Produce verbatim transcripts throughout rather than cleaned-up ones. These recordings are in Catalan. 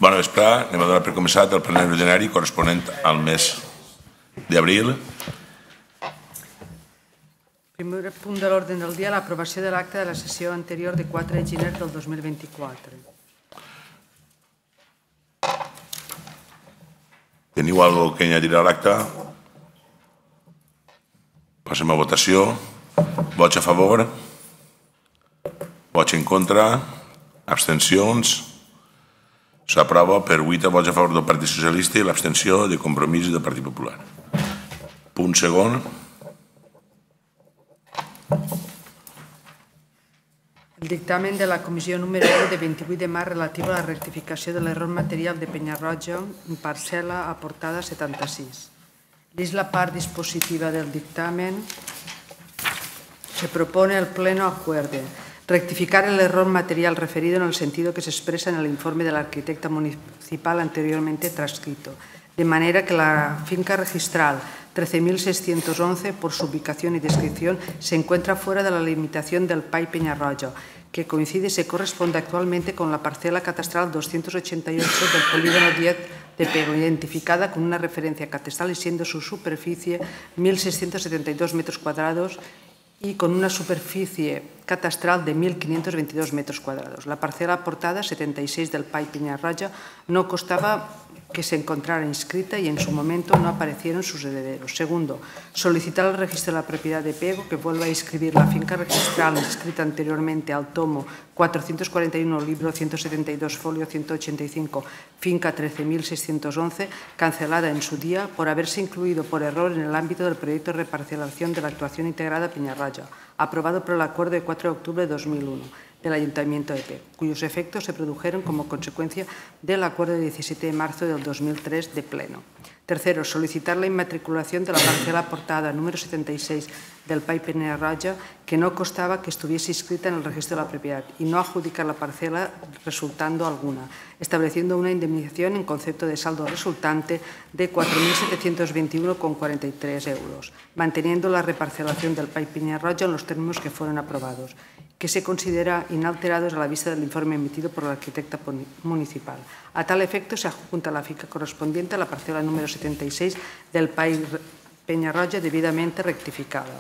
Bona vesprada. Anem a donar per començat el plenari ordinari corresponent al mes d'abril. Primer punt de l'ordre del dia, l'aprovació de l'acte de la sessió anterior de quatre de gener del dos mil vint-i-quatre. Teniu alguna cosa que añadir a l'acte? Passem a votació. Vots a favor? Vots en contra? Abstencions? S'aprova per vuit vots a favor del Partit Socialista i l'abstenció de Compromís del Partit Popular. Punt segon. El dictamen de la comissió número u de vint-i-vuit de març relatiu a la rectificació de l'error material de Peñarroja en parcel·la aportada setanta-sis. Vist la part dispositiva del dictamen, se propone el Pleno acuerde rectificar el error material referido en el sentido que se expresa en el informe del arquitecto municipal anteriormente transcrito, de manera que la finca registral trece mil seiscientos once, por su ubicación y descripción, se encuentra fuera de la limitación del P A I Peñarroja, que coincide y se corresponde actualmente con la parcela catastral doscientos ochenta y ocho del polígono diez de Pego, identificada con una referencia catastral y siendo su superficie mil seiscientos setenta y dos metros cuadrados y con una superficie catastral de mil quinientos veintidós metros cuadrados. La parcela aportada, setenta y seis del P A I Peñarroja, no constaba que se encontrara inscrita y en su momento no aparecieron sus herederos. Segundo, solicitar al registro de la propiedad de Pego que vuelva a inscribir la finca registral inscrita anteriormente al tomo cuatrocientos cuarenta y uno, libro ciento setenta y dos, folio ciento ochenta y cinco, finca trece mil seiscientos once, cancelada en su día por haberse incluido por error en el ámbito del proyecto de reparcelación de la actuación integrada Peñarroja, aprobado por el acuerdo de cuatro de octubre de dos mil uno del Ayuntamiento de Pego, cuyos efectos se produjeron como consecuencia del acuerdo de diecisiete de marzo del dos mil tres de Pleno. Tercero, solicitar la inmatriculación de la parcela aportada número setenta y seis del P A I Peñarroja que no constaba que estuviese inscrita en el registro de la propiedad y no adjudicar la parcela resultando alguna, estableciendo una indemnización en concepto de saldo resultante de cuatro mil setecientos veintiuno coma cuarenta y tres euros, manteniendo la reparcelación del P A I Peñarroja en los términos que fueron aprobados, que se considera inalterados a la vista del informe emitido por el arquitecto municipal. A tal efecto, se adjunta la finca correspondiente a la parcela número setenta y seis del P A I Peñarroja debidamente rectificada.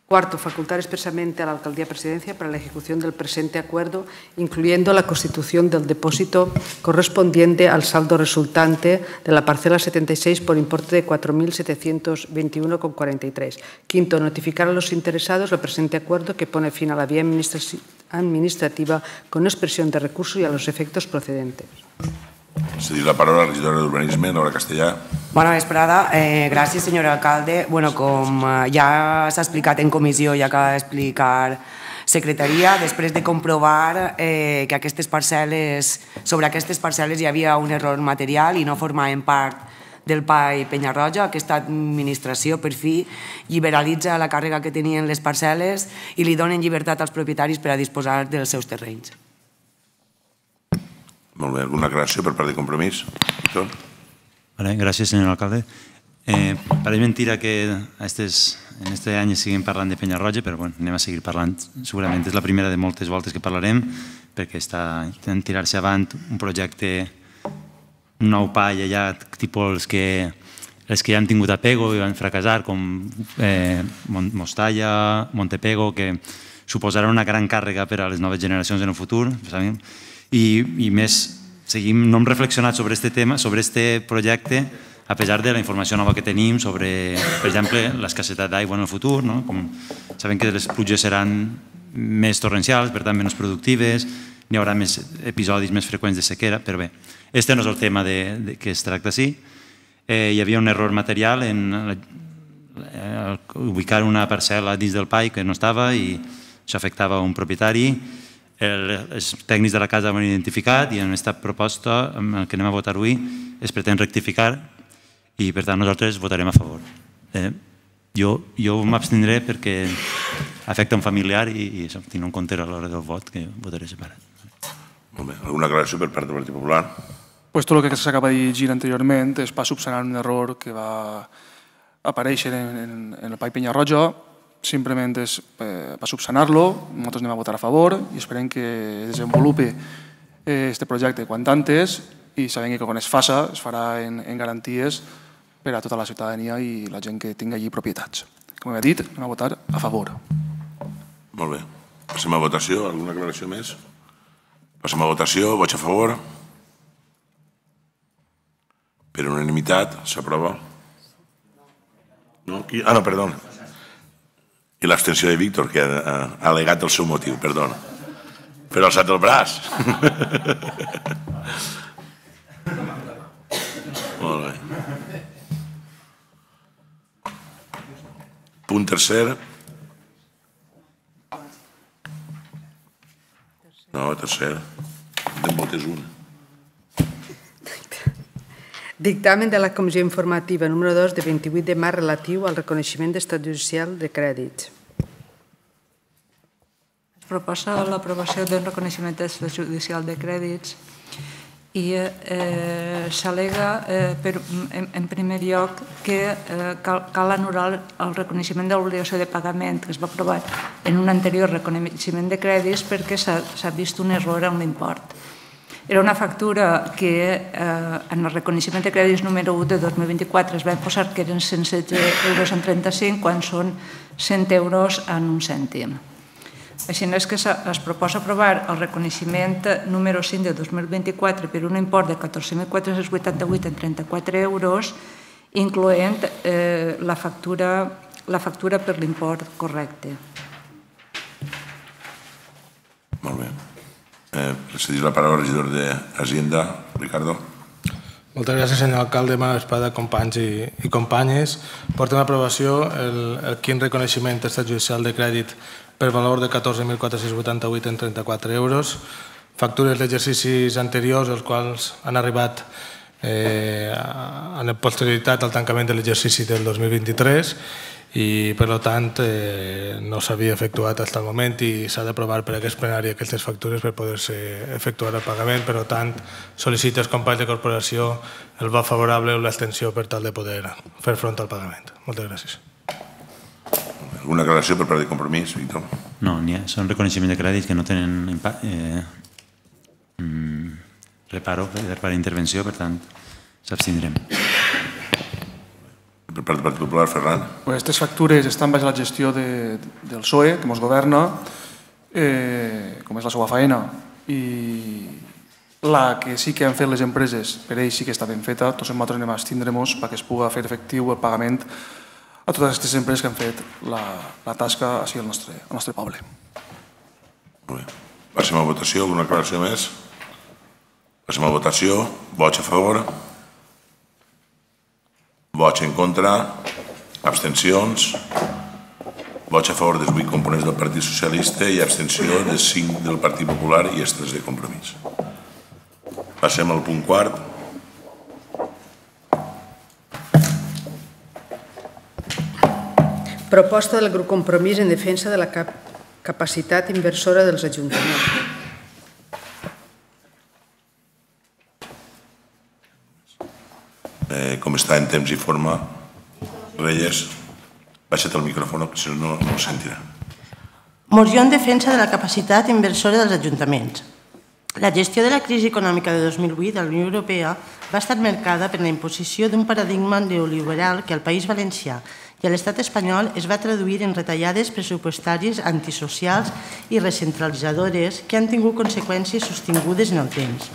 Cuarto, facultar expresamente a la Alcaldía Presidencia para la ejecución del presente acuerdo, incluyendo la constitución del depósito correspondiente al saldo resultante de la parcela setenta y seis por importe de cuatro mil setecientos veintiuno coma cuarenta y tres. Quinto, notificar a los interesados el presente acuerdo que pone fin a la vía administrativa con expresión de recurso y a los efectos procedentes. Cedir la paraula a la regidora d'Urbanisme, Nora Castellà. Bona vesprada. Eh, gràcies, senyor alcalde. Bueno, com ja s'ha explicat en comissió i acaba d'explicar secretaria, després de comprovar eh, que aquestes parcel·les, sobre aquestes parcel·les hi havia un error material i no formaven part del P A I Peñarroja, aquesta administració per fi liberalitza la càrrega que tenien les parcel·les i li donen llibertat als propietaris per a disposar dels seus terrenys. Molt bé, alguna aclaració per part de Compromís? Gràcies, senyor alcalde. Pareix mentira que en aquest any seguim parlant de Peñarroja, però anem a seguir parlant. Segurament és la primera de moltes voltes que parlarem, perquè està intentant tirar-se avant un projecte, un nou P A I allà, tipus els que els que ja han tingut a Pego i van fracassar, com Mostalla, Montepego, que suposarà una gran càrrega per a les noves generacions en el futur, i més, no hem reflexionat sobre aquest tema, sobre aquest projecte, a pesar de la informació nova que tenim sobre, per exemple, l'escassetat d'aigua en el futur. Sabem que les pluges seran més torrencials, per tant, menys productives, hi haurà més episodis més freqüents de sequera, però bé, aquest no és el tema que es tracta així. Hi havia un error material en ubicar una parcel·la dins del P A I que no estava i això afectava un propietari. Els tècnics de la casa ho han identificat i en aquesta proposta que anem a votar avui es pretén rectificar i per tant nosaltres votarem a favor. Jo m'abstindré perquè afecta un familiar i tinc en compte a l'hora del vot que votaré separat. Molt bé. Alguna aclaració per part del Partit Popular? Pues tot el que s'acaba de llegir anteriorment es va subsanar un error que va aparèixer en el P A I Peñarroja. Simplement és per subsanar-lo, nosaltres anem a votar a favor i esperem que desenvolupi aquest projecte quant antes i sabem que quan es faça es farà en garanties per a tota la ciutadania i la gent que tingui allí propietats. Com he dit, anem a votar a favor. Molt bé. Passem a votació. Alguna aclaració més? Passem a votació. Vots a favor? Per unanimitat, s'aprova. No? Ah, no, perdó. I l'abstenció de Víctor, que ha al·legat el seu motiu, perdó. Però ha alçat el braç. Molt bé. Punt tercer. No, tercer. Te'n votes una. Dictamen de la Comissió Informativa número dos de vint-i-vuit de març relatiu al reconeixement d'estat judicial de crèdits. Es proposa l'aprovació d'un reconeixement d'estat judicial de crèdits i s'al·lega, en primer lloc, que cal anul·lar el reconeixement de l'obligació de pagament que es va aprovar en un anterior reconeixement de crèdits perquè s'ha vist un error en l'import. Era una factura que en el reconeixement de crèdits número u de dos mil vint-i-quatre es va posar que eren cent setze euros en trenta-cinc quan són cent euros en un cèntim. Així és que es proposa aprovar el reconeixement número cinc de dos mil vint-i-quatre per un import de catorze mil quatre-cents vuitanta-vuit en trenta-quatre euros, incloent la factura per l'import correcte. Molt bé. Cedir la paraula al regidor d'Hacienda, Ricardo. Moltes gràcies, senyor alcalde, bona vesprada, companys i companyes. Portem a aprovació el quint reconeixement d'estat judicial de crèdit per valor de catorze mil quatre-cents vuitanta-vuit en trenta-quatre euros, factures d'exercicis anteriors, els quals han arribat en posterioritat al tancament de l'exercici del dos mil vint-i-tres i, per tant, no s'havia efectuat fins al moment i s'ha d'aprovar per aquest plenari aquestes factures per poder-se efectuar el pagament. Per tant, sol·licito als companys de corporació el vot favorable o l'abstenció per tal de poder fer front al pagament. Moltes gràcies. Alguna aclaració per part de Compromís, Víctor? No, n'hi ha. Són reconeixements de crèdits que no tenen reparo per intervenció, per tant, s'abstindrem. Per part del Partit Popular, Ferran? Aquestes factures estan baix la gestió del P S O E, que ens governa, com és la seva feina, i la que sí que han fet les empreses, per ells sí que està ben feta, tots nosaltres anem a abstindre-nos perquè es pugui fer efectiu el pagament a totes aquestes empreses que han fet la tasca així al nostre poble. Molt bé. Passem a votació. Alguna aclaració més? Passem a votació. Vots a favor? Vots en contra? Abstencions? Vots a favor dels vuit components del Partit Socialista i abstenció dels cinc del Partit Popular i els tres de Compromís. Passem al punt quart. Proposta del grup Compromís en defensa de la capacitat inversora dels ajuntaments. Com està en temps i forma, Reyes, baixa't el micròfon, que si no, no ho sentirà. Moció en defensa de la capacitat inversora dels ajuntaments. La gestió de la crisi econòmica de dos mil vuit a la Unió Europea va estar marcada per la imposició d'un paradigma neoliberal que al País Valencià i a l'Estat espanyol es va traduir en retallades pressupostàries antisocials i recentralitzadores que han tingut conseqüències sostingudes en el temps.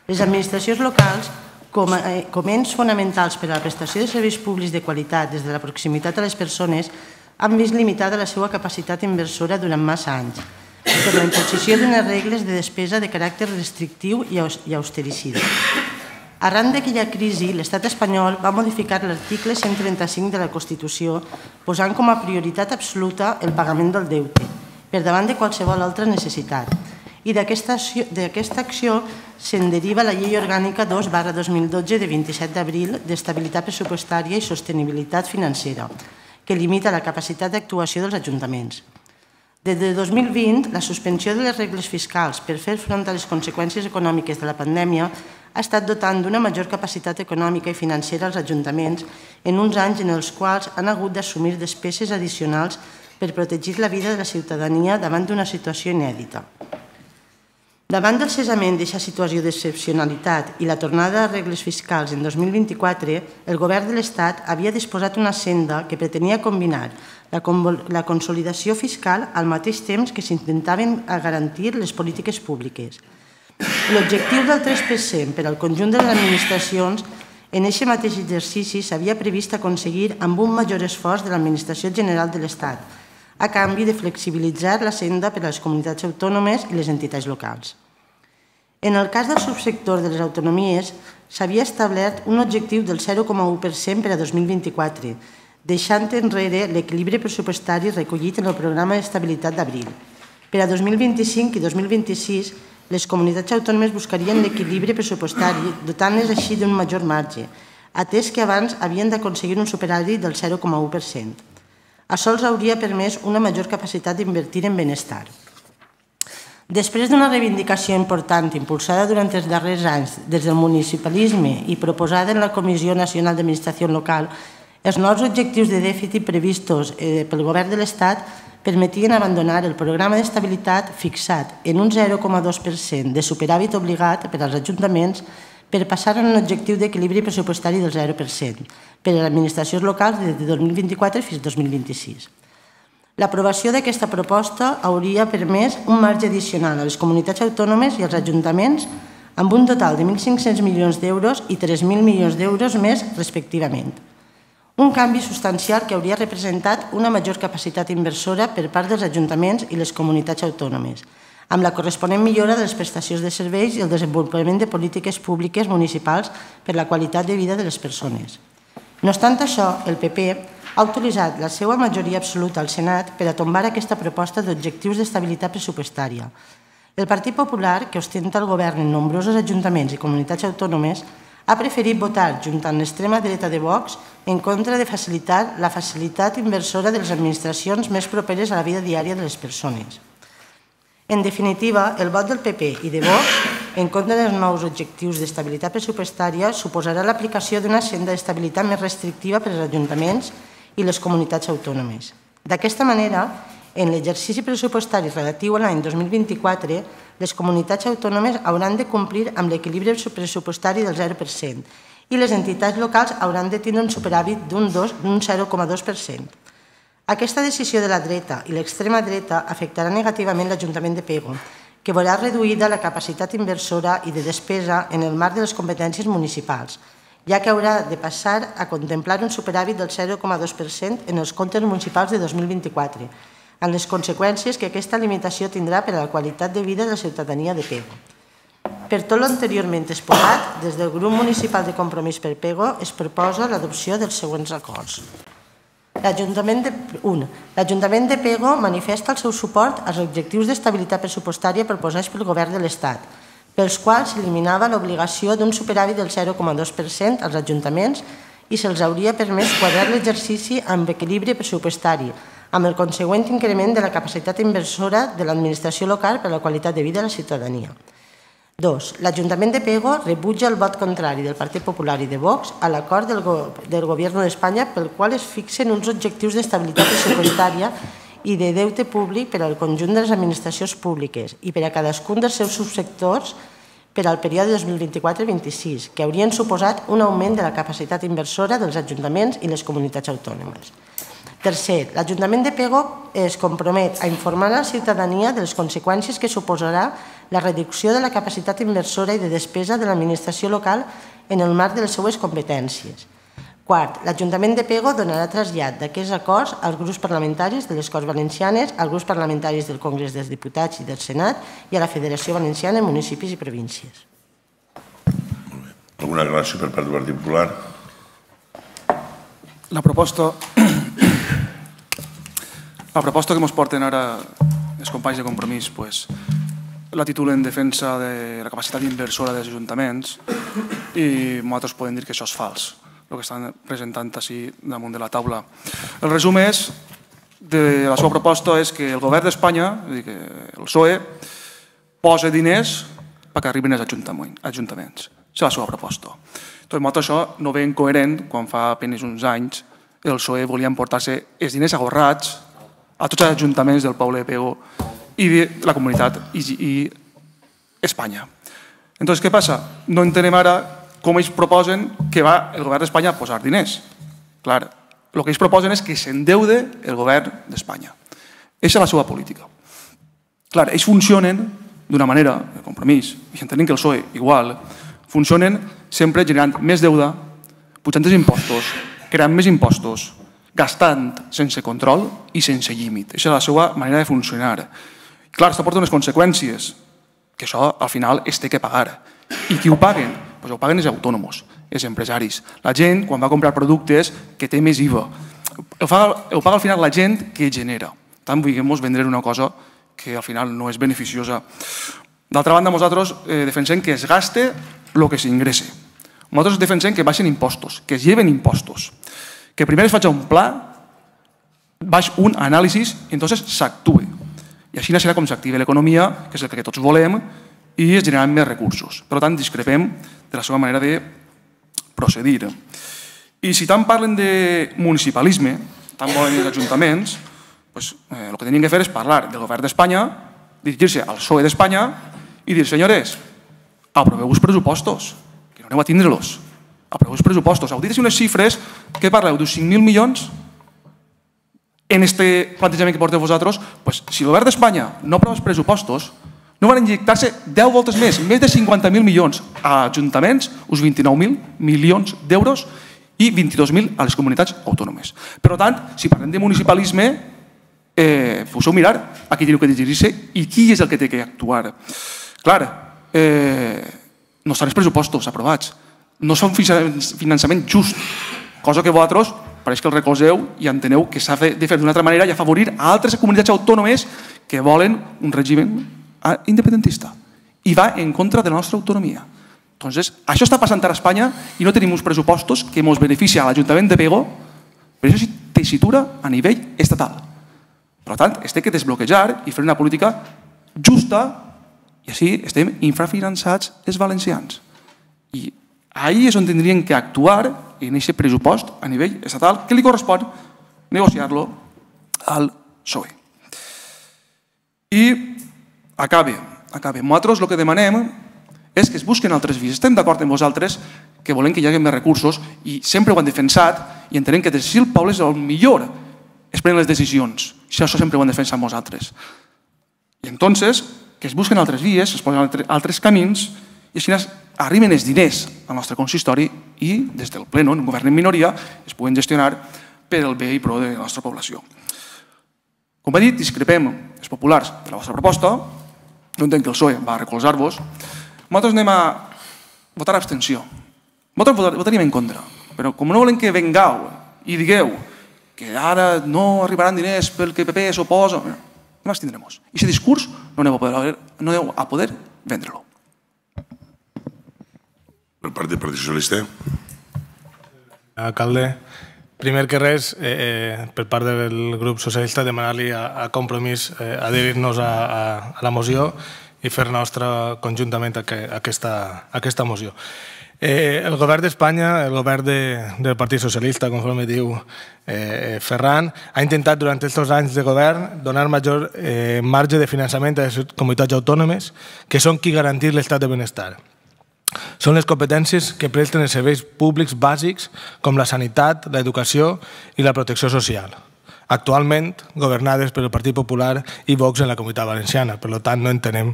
Les administracions locals, com a ens fonamentals per a la prestació de serveis públics de qualitat des de la proximitat a les persones, han vist limitada la seva capacitat inversora durant massa anys, per la imposició d'unes regles de despesa de caràcter restrictiu i austericida. Arran d'aquella crisi, l'Estat espanyol va modificar l'article cent trenta-cinc de la Constitució, posant com a prioritat absoluta el pagament del deute, per davant de qualsevol altra necessitat. I d'aquesta acció se'n deriva la Llei Orgànica dos barra dos mil dotze de vint-i-set d'abril d'estabilitat pressupostària i sostenibilitat financera, que limita la capacitat d'actuació dels ajuntaments. Des de dos mil vint, la suspensió de les regles fiscals per fer front a les conseqüències econòmiques de la pandèmia ha estat dotant d'una major capacitat econòmica i financera als ajuntaments en uns anys en els quals han hagut d'assumir despeses addicionals per protegir la vida de la ciutadania davant d'una situació inèdita. Davant del cessament d'aquesta situació d'excepcionalitat i la tornada a regles fiscals en dos mil vint-i-quatre, el Govern de l'Estat havia disposat una senda que pretenia combinar la consolidació fiscal al mateix temps que s'intentaven garantir les polítiques públiques. L'objectiu del tres per cent per al conjunt de les administracions en aquest mateix exercici s'havia previst aconseguir amb un major esforç de l'Administració General de l'Estat, a canvi de flexibilitzar la senda per a les comunitats autònomes i les entitats locals. En el cas del subsector de les autonomies, s'havia establert un objectiu del zero coma u per cent per a dos mil vint-i-quatre, deixant enrere l'equilibri pressupostari recollit en el programa d'estabilitat d'abril. Per a dos mil vint-i-cinc i dos mil vint-i-sis, les comunitats autònomes buscarien l'equilibri pressupostari, dotant-les així d'un major marge, atès que abans havien d'aconseguir un superàvit del zero coma u per cent. Això els hauria permès una major capacitat d'invertir en benestar. Després d'una reivindicació important impulsada durant els darrers anys des del municipalisme i proposada en la Comissió Nacional d'Administració Local, els nous objectius de dèficit previstos pel Govern de l'Estat permetien abandonar el programa d'estabilitat fixat en un zero coma dos per cent de superàvit obligat per als ajuntaments per passar a un objectiu d'equilibri pressupostari del zero per cent per a les administracions locals des de dos mil vint-i-quatre fins al dos mil vint-i-sis. L'aprovació d'aquesta proposta hauria permès un marge addicional a les comunitats autònomes i als ajuntaments amb un total de mil cinc-cents milions d'euros i tres mil milions d'euros més respectivament. Un canvi substancial que hauria representat una major capacitat inversora per part dels ajuntaments i les comunitats autònomes, amb la corresponent millora de les prestacions de serveis i el desenvolupament de polítiques públiques municipals per la qualitat de vida de les persones. No obstant això, el P P ha utilitzat la seva majoria absoluta al Senat per a tombar aquesta proposta d'objectius d'estabilitat pressupostària. El Partit Popular, que ostenta el govern en nombrosos ajuntaments i comunitats autònomes, ha preferit votar, junt amb l'extrema dreta de Vox, en contra de facilitar la facilitat inversora de les administracions més properes a la vida diària de les persones. En definitiva, el vot del P P i de Vox en contra dels nous objectius d'estabilitat pressupostària suposarà l'aplicació d'una senda d'estabilitat més restrictiva per als ajuntaments i les comunitats autònomes. D'aquesta manera, en l'exercici pressupostari relatiu a l'any dos mil vint-i-quatre, les comunitats autònomes hauran de complir amb l'equilibri pressupostari del zero per cent i les entitats locals hauran de tindre un superàvit d'un zero coma dos per cent. Aquesta decisió de la dreta i l'extrema dreta afectarà negativament l'Ajuntament de Pego, que veurà reduïda la capacitat inversora i de despesa en el marc de les competències municipals, ja que haurà de passar a contemplar un superàvit del zero coma dos per cent en els comptes municipals de dos mil vint-i-quatre, amb les conseqüències que aquesta limitació tindrà per a la qualitat de vida de la ciutadania de Pego. Per tot l'anteriorment exposat, des del grup municipal de Compromís per Pego es proposa l'adopció dels següents acords. L'Ajuntament de Pego manifesta el seu suport als objectius d'estabilitat pressupostària proposats pel Govern de l'Estat, pels quals s'eliminava l'obligació d'un superàvit del zero coma dos per cent als ajuntaments i se'ls hauria permès quadrar l'exercici amb equilibri pressupostari, amb el consegüent increment de la capacitat inversora de l'administració local per a la qualitat de vida de la ciutadania. Dos. L'Ajuntament de Pego rebutja el vot contrari del Partit Popular i de Vox a l'acord del Govern d'Espanya pel qual es fixen uns objectius d'estabilitat pressupostària i de deute públic per al conjunt de les administracions públiques i per a cadascun dels seus subsectors per al període dos mil vint-i-quatre vint-i-sis, que haurien suposat un augment de la capacitat inversora dels ajuntaments i les comunitats autònomes. Tercer, l'Ajuntament de Pego es compromet a informar a la ciutadania de les conseqüències que suposarà la reducció de la capacitat inversora i de despesa de l'administració local en el marc de les seues competències. Quart, l'Ajuntament de Pego donarà trasllat d'aquests acords als grups parlamentaris de les Corts Valencianes, als grups parlamentaris del Congrés dels Diputats i del Senat i a la Federació Valenciana de Municipis i Províncies. Alguna aclaració per part del Partit Popular? La proposta... La proposta que ens porten ara els companys de Compromís la titulen defensa de la capacitat inversora dels ajuntaments i nosaltres podem dir que això és fals, el que estan presentant així damunt de la taula. El resum és, de la seva proposta és que el govern d'Espanya, el P S O E, posa diners perquè arribin als ajuntaments. És la seva proposta. Nosaltres això no veiem coherent quan fa apenas uns anys el P S O E volia emportar-se els diners agorrats a tots els ajuntaments del poble de Pego i de la comunitat i Espanya. Entonces, què passa? No entenem ara com ells proposen que va el govern d'Espanya a posar diners. Clar, el que ells proposen és que s'endeude el govern d'Espanya. Aquesta és la seva política. Clar, ells funcionen d'una manera, de compromís, i entenem que el P S O E igual, funcionen sempre generant més deuda, pujant els impostos, creant més impostos, gastant sense control i sense límit. Aquesta és la seva manera de funcionar. Clar, això porta unes conseqüències, que això al final es té que pagar. I qui ho paguen? Doncs ho paguen els autònoms, els empresaris. La gent, quan va a comprar productes, que té més I V A. Ho paga al final la gent que genera. Tant vulguem vendre una cosa que al final no és beneficiosa. D'altra banda, nosaltres defensem que es gaste el que s'ingressa. Nosaltres defensem que baixen impostos, que es lleven impostos, que primer es faci un pla, baix un anàlisi i entonces s'actue. I així serà com s'activa l'economia, que és el que tots volem, i es generaran més recursos. Per tant, discrepem de la seva manera de procedir. I si tant parlen de municipalisme, tant volen els ajuntaments, el que tenien que fer és parlar del govern d'Espanya, dirigir-se al P S O E d'Espanya i dir, senyores, aproveu els pressupostos, que no aneu a tindre-los. Aproveu els pressupostos. Heu dit unes xifres que parleu d'uns cinc mil milions en aquest plantejament que porteu vosaltres. Si el govern d'Espanya no aprova els pressupostos, no van injectar-se deu voltes més, més de cinquanta mil milions a ajuntaments, uns vint-i-nou mil milions d'euros i vint-i-dos mil a les comunitats autònomes. Per tant, si parlem de municipalisme, poseu mirar a qui teniu que dirigir-se i qui és el que té que actuar. Clar, no estan els pressupostos aprovats, no són finançament just, cosa que vosaltres pareix que el recolzeu i enteneu que s'ha de fer d'una altra manera i afavorir a altres comunitats autònomes que volen un règim independentista i va en contra de la nostra autonomia. Entonces, això està passant ara a Espanya i no tenim uns pressupostos que ens beneficien a l'Ajuntament de Pego, però això és tessitura a nivell estatal. Per tant, es té que desbloquejar i fer una política justa i així estem infrafinançats els valencians. I ahí és on tindrien que actuar en aquest pressupost a nivell estatal que li correspon negociar-lo al P S O E. I acabe, acabe. Nosaltres el que demanem és que es busquen altres vies. Estem d'acord amb vosaltres que volem que hi hagi més recursos i sempre ho han defensat i entenem que des del poble és el millor es prenen les decisions. Això sempre ho han defensat nosaltres. I entonces, que es busquen altres vies, es posen altres camins i així arriben els diners al nostre consistori i des del ple, en un govern en minoria, es puguen gestionar per al bé i pro de la nostra població. Com he dit, discrepem els populars de la vostra proposta, no entenc que el P S O E va recolzar-vos. Nosaltres anem a votar abstenció. Nosaltres votaríem en contra, però com no volem que vengau i digueu que ara no arribaran diners perquè el P P s'oposa, no ens tindrem. I aquest discurs no aneu a poder vendre-lo. Per part del Partit Socialista. Alcalde, primer que res, per part del grup socialista, demanar-li a Compromís adherir-nos a la moció i fer nostra conjuntament aquesta moció. El govern d'Espanya, el govern del Partit Socialista, conforme diu Ferran, ha intentat durant aquests anys de govern donar major marge de finançament a les comunitats autònomes que són qui garantir l'estat de benestar. Són les competències que presten els serveis públics bàsics com la sanitat, l'educació i la protecció social, actualment governades per el Partit Popular i Vox en la Comunitat Valenciana. Per tant, no entenem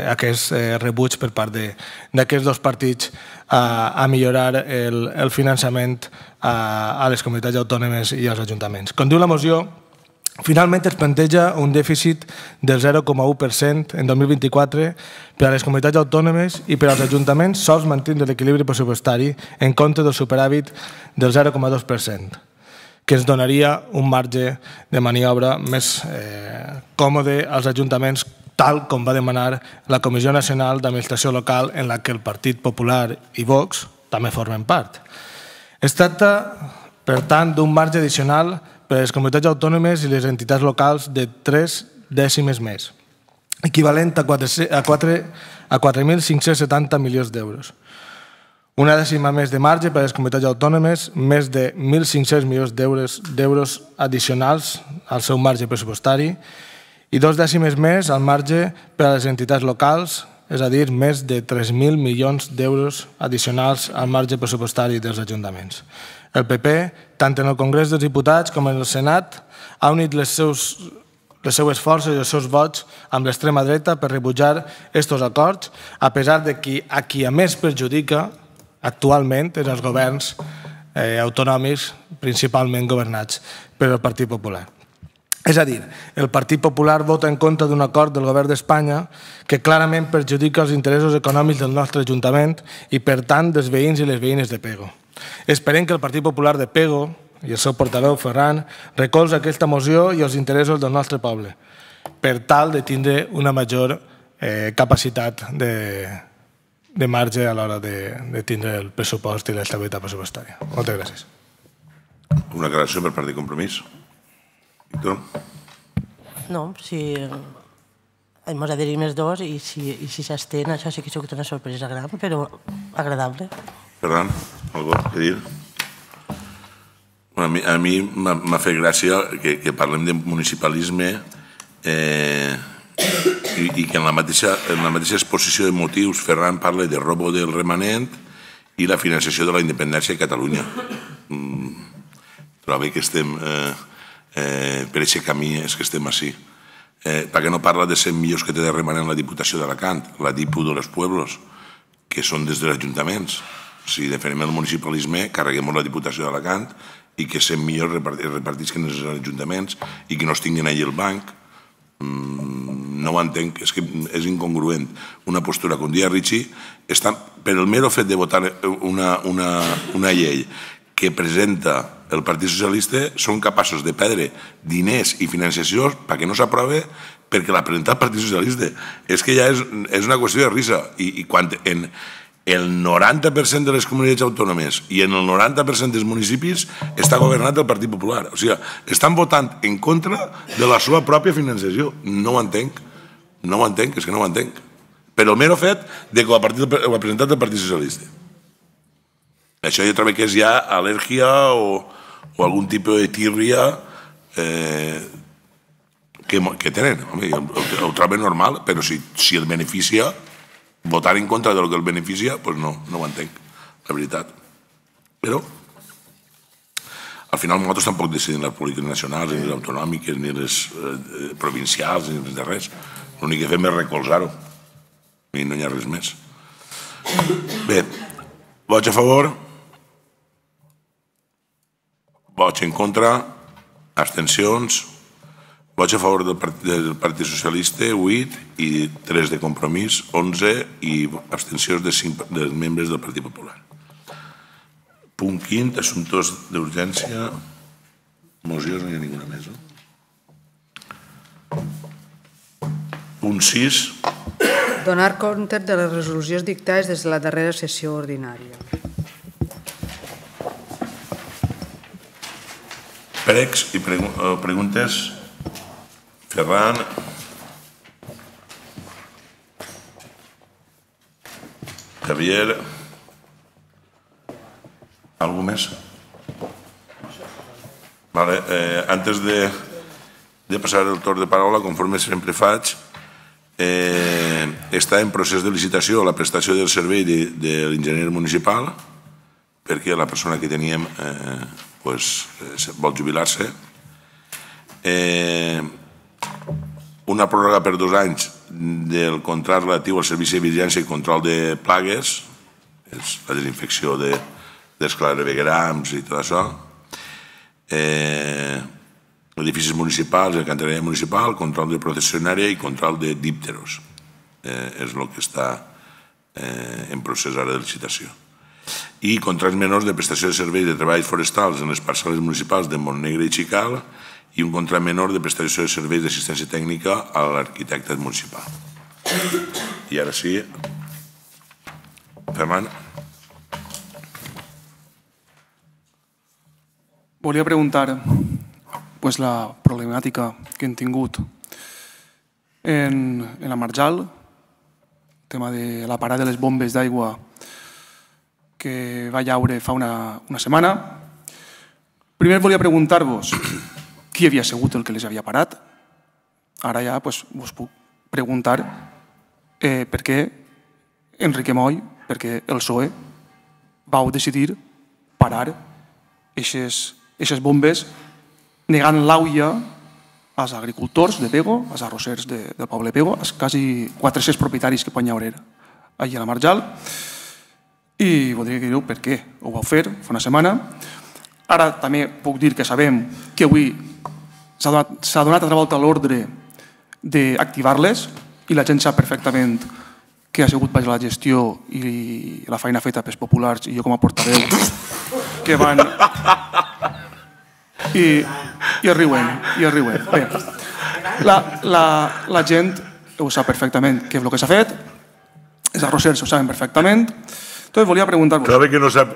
aquest rebuig per part d'aquests dos partits a millorar el finançament a les comunitats autònomes i als ajuntaments. Com diu la moció, finalment es planteja un dèficit del zero coma u per cent en dos mil vint-i-quatre per a les comunitats autònomes i per als ajuntaments sols mantindre l'equilibri pressupostari en compte del superàvit del zero coma dos per cent, que ens donaria un marge de maniobra més còmode als ajuntaments, tal com va demanar la Comissió Nacional d'Administració Local, en la que el Partit Popular i Vox també formen part. Es tracta, per tant, d'un marge addicional per a les comunitats autònomes i les entitats locals de tres dècimes més, equivalent a quatre mil cinc-cents setanta milions d'euros. Una dècima més de marge per a les comunitats autònomes, més de mil cinc-cents milions d'euros addicionals al seu marge pressupostari i dos dècimes més al marge per a les entitats locals, és a dir, més de tres mil milions d'euros addicionals al marge pressupostari dels ajuntaments. El P P, tant en el Congrés dels Diputats com en el Senat, ha unit les seus les seues forces i els seus vots amb l'extrema dreta per rebutjar aquests acords, a pesar de que a qui a més perjudica actualment és els governs autonòmics, principalment governats per el Partit Popular. És a dir, el Partit Popular vota en contra d'un acord del govern d'Espanya que clarament perjudica els interessos econòmics del nostre Ajuntament i, per tant, dels veïns i les veïnes de Pego. Esperem que el Partit Popular de Pego i el seu portaveu Ferran recolza aquesta moció i els interessos del nostre poble per tal de tindre una major capacitat de marge a l'hora de tindre el pressupost i l'estabilitat pressupostària. Moltes gràcies. Una aclaració per part de Compromís. Víctor? No, si ens adherim els dos i si s'estén, això sí que ha sigut una sorpresa gran, però agradable. Ferran, algo a dir? A mi m'ha fet gràcia que parlem de municipalisme i que en la mateixa exposició de motius Ferran parla de robo del remanent i la financiació de la independència de Catalunya. Trobo que estem per aquest camí, és que estem així. Per què no parla de cent milions que té de remanent la Diputació d'Alacant, la Dipu de los Pueblos, que són des dels ajuntaments? Si defensem el municipalisme, carreguem la Diputació d'Alacant i que cent milions repartisquen els ajuntaments i que no es tinguin allà el banc. No ho entenc, és que és incongruent. Una postura com dia Richie, per el mero fet de votar una llei que presenta el Partit Socialista, són capaços de perdre diners i financiació perquè no s'aprova perquè l'ha presentat el Partit Socialista. És que ja és una qüestió de risa. I quan en el noranta per cent de les comunitats autònomes i en el noranta per cent dels municipis està governat el Partit Popular. O sigui, estan votant en contra de la seva pròpia financiació. No ho entenc. No ho entenc, és que no ho entenc. Però el mero fet de que ho ha presentat el Partit Socialista. Això jo trobo que és ja al·lèrgia o algun tipus de tírria que tenen. Ho trobo normal, però si el beneficia, votar en contra del que el beneficia, doncs no, no ho entenc, la veritat. Però, al final, nosaltres tampoc decidim les polítiques nacionals, ni les autonòmiques, ni les provincials, ni les de res. L'únic que fem és recolzar-ho. I no hi ha res més. Bé, vots a favor, vots en contra, abstencions, vots a favor del Partit Socialista, vuit, i tres de Compromís, onze, i abstencions de cinc dels membres del Partit Popular. Punt quint, assumptes d'urgència, mocions, no hi ha ninguna més. Punt sis. Donar compte de les resolucions dictades des de la darrera sessió ordinària. Pregs i preguntes. Ferran. Javier. ¿Algo més? Vale, antes de passar el torn de paraula, conforme sempre faig, està en procés de licitació la prestació del servei de l'enginyer municipal perquè la persona que teníem vol jubilar-se. Una pròrroga per dos anys del contracte relatiu al servici de vigilància i control de plagues, és la desinfecció dels claveguerams i tot això, edificis municipals, alcantarilla municipal, control de processionària i control de dípteros. És el que està en procés ara de licitació. I contractes menors de prestació de serveis de treballs forestals en les parcel·les municipals de Montnegre i Xical i un contracte menor de prestació de serveis d'assistència tècnica a l'arquitecte municipal. I ara sí, Ferran. Volia preguntar la problemàtica que hem tingut en la Marjal, el tema de la parada de les bombes d'aigua que va llaure fa una setmana. Primer volia preguntar-vos qui havia sigut el que les havia parat. Ara ja vos puc preguntar per què Enrique Moll, perquè el P S O E vau decidir parar aquestes bombes negant l'auia als agricultors de Pego, als arrossers del poble Pego, als quasi quatre-cents propietaris que poden haver allà a la Marjal. I voldria dir-ho per què ho vau fer fa una setmana. Ara també puc dir que sabem que avui s'ha donat altra volta l'ordre d'activar-les i la gent sap perfectament que ha sigut per la gestió i la feina feta pels populars i jo com a portaveu que van... I es riuen, i es riuen. Bé, la gent ho sap perfectament què és el que s'ha fet, els arrossers ho saben perfectament. Entonces volia preguntar-vos... Claro que no sap...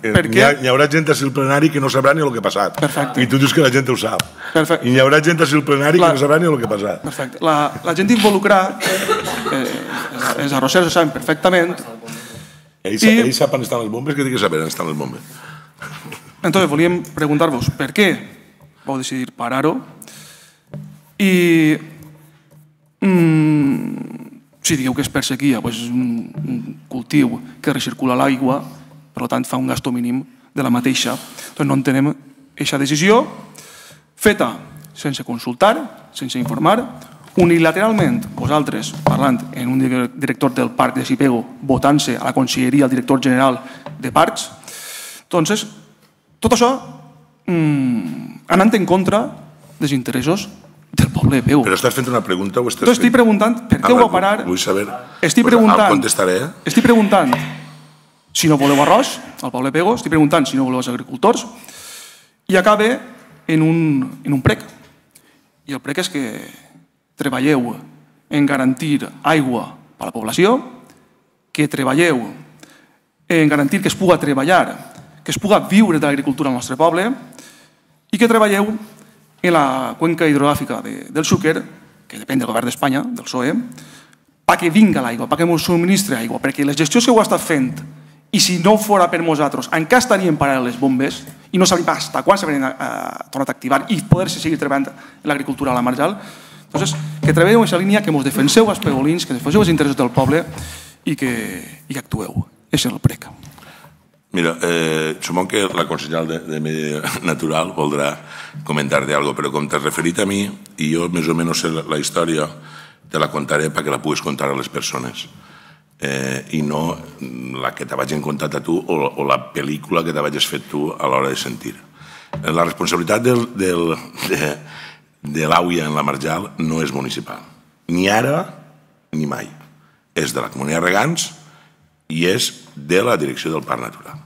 Hi haurà gent a el plenari que no sabrà ni el que ha passat. Perfecte. I tu dius que la gent ho sap. Perfecte. I hi haurà gent a el plenari que no sabrà ni el que ha passat. Perfecte. La gent involucrada, els arrossers ho saben perfectament. Ells saben on estan les bombes, que té que saber on estan les bombes. Entonces volíem preguntar-vos per què vau decidir parar-ho i si digueu que és per sequia, és un cultiu que recircula l'aigua, per tant fa un gasto mínim de la mateixa. Doncs no entenem aquesta decisió feta sense consultar, sense informar, unilateralment, vosaltres parlant en un director del parc de Sipego, votant-se a la conselleria al director general de parcs. Doncs tot això anant en contra dels interessos del poble de Pego. Però estàs fent una pregunta o estàs fent... Estic preguntant per què ho va parar... Vull saber... Estic preguntant... El contestaré. Estic preguntant si no voleu arròs al poble de Pego, estic preguntant si no voleu els agricultors i acaba en un prec. I el prec és que treballeu en garantir aigua per a la població, que treballeu en garantir que es puga treballar, que es puga viure de l'agricultura al nostre poble i que treballeu en la cuenca hidrogràfica del Xúquer, que depèn del govern d'Espanya, del P S O E, perquè vinga l'aigua, perquè ens subministri aigua, perquè les gestions que ho ha estat fent, i si no fora per nosaltres, encara estarien parant les bombes i no sabem fins quan s'haurien tornat a activar i poder-se seguir treballant en l'agricultura a la Marjal. Doncs que treballeu en aquesta línia, que ens defenseu els pegolins, que defenseu els interessos del poble i que actueu. Això és el prec. Mira, supongo que la consellera de Medi Natural voldrà comentar-te alguna cosa, però com t'has referit a mi, i jo més o menys sé la història, te la contaré perquè la puguis contar a les persones. I no la que te vagin contat a tu o la pel·lícula que te vagis fet tu a l'hora de sentir. La responsabilitat de l'àuia en la Marjal no és municipal. Ni ara ni mai. És de la Comunitat de Regants i és de la direcció del Parc Natural.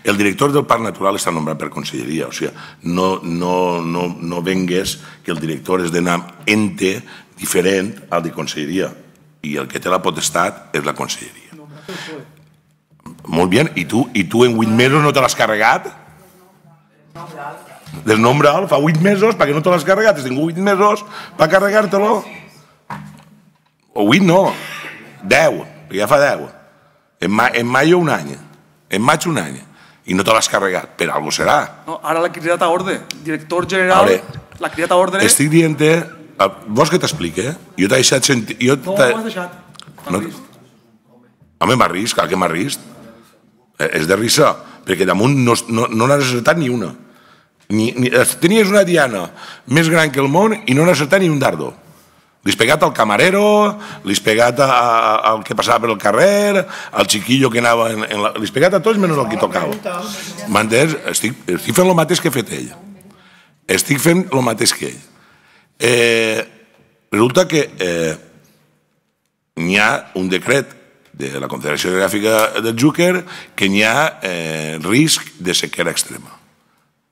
El director del Parc Natural està nombrat per conselleria, o sigui, no vengues que el director és d'un ente diferent al de conselleria i el que té la potestat és la conselleria. Molt bé, i tu en vuit mesos no te l'has carregat? Del nombre alt, fa vuit mesos, perquè no te l'has carregat, has tingut vuit mesos per carregar-te-lo? O vuit no, deu, perquè ja fa deu. En maio un any, en maig un any, i no te l'has carregat, per algo serà. Ara l'ha cridat a ordre, director general, l'ha cridat a ordre... Estic dient-te, vols que t'expliqui? Jo t'he deixat sentir... No, m'has deixat, m'has rist. Home, m'has rist, clar que m'has rist. És de risa, perquè damunt no n'has acertat ni una. Tenies una diana més gran que el món i no n'has acertat ni un dardo. Li has pegat al camarero, li has pegat al que passava per el carrer, al xiquillo que anava... Li has pegat a tots menys al que tocava. M'entens? Estic fent el mateix que ha fet ell. Estic fent el mateix que ell. Resulta que n'hi ha un decret de la Confederació Hidrogràfica del Xúquer que n'hi ha risc de sequera extrema.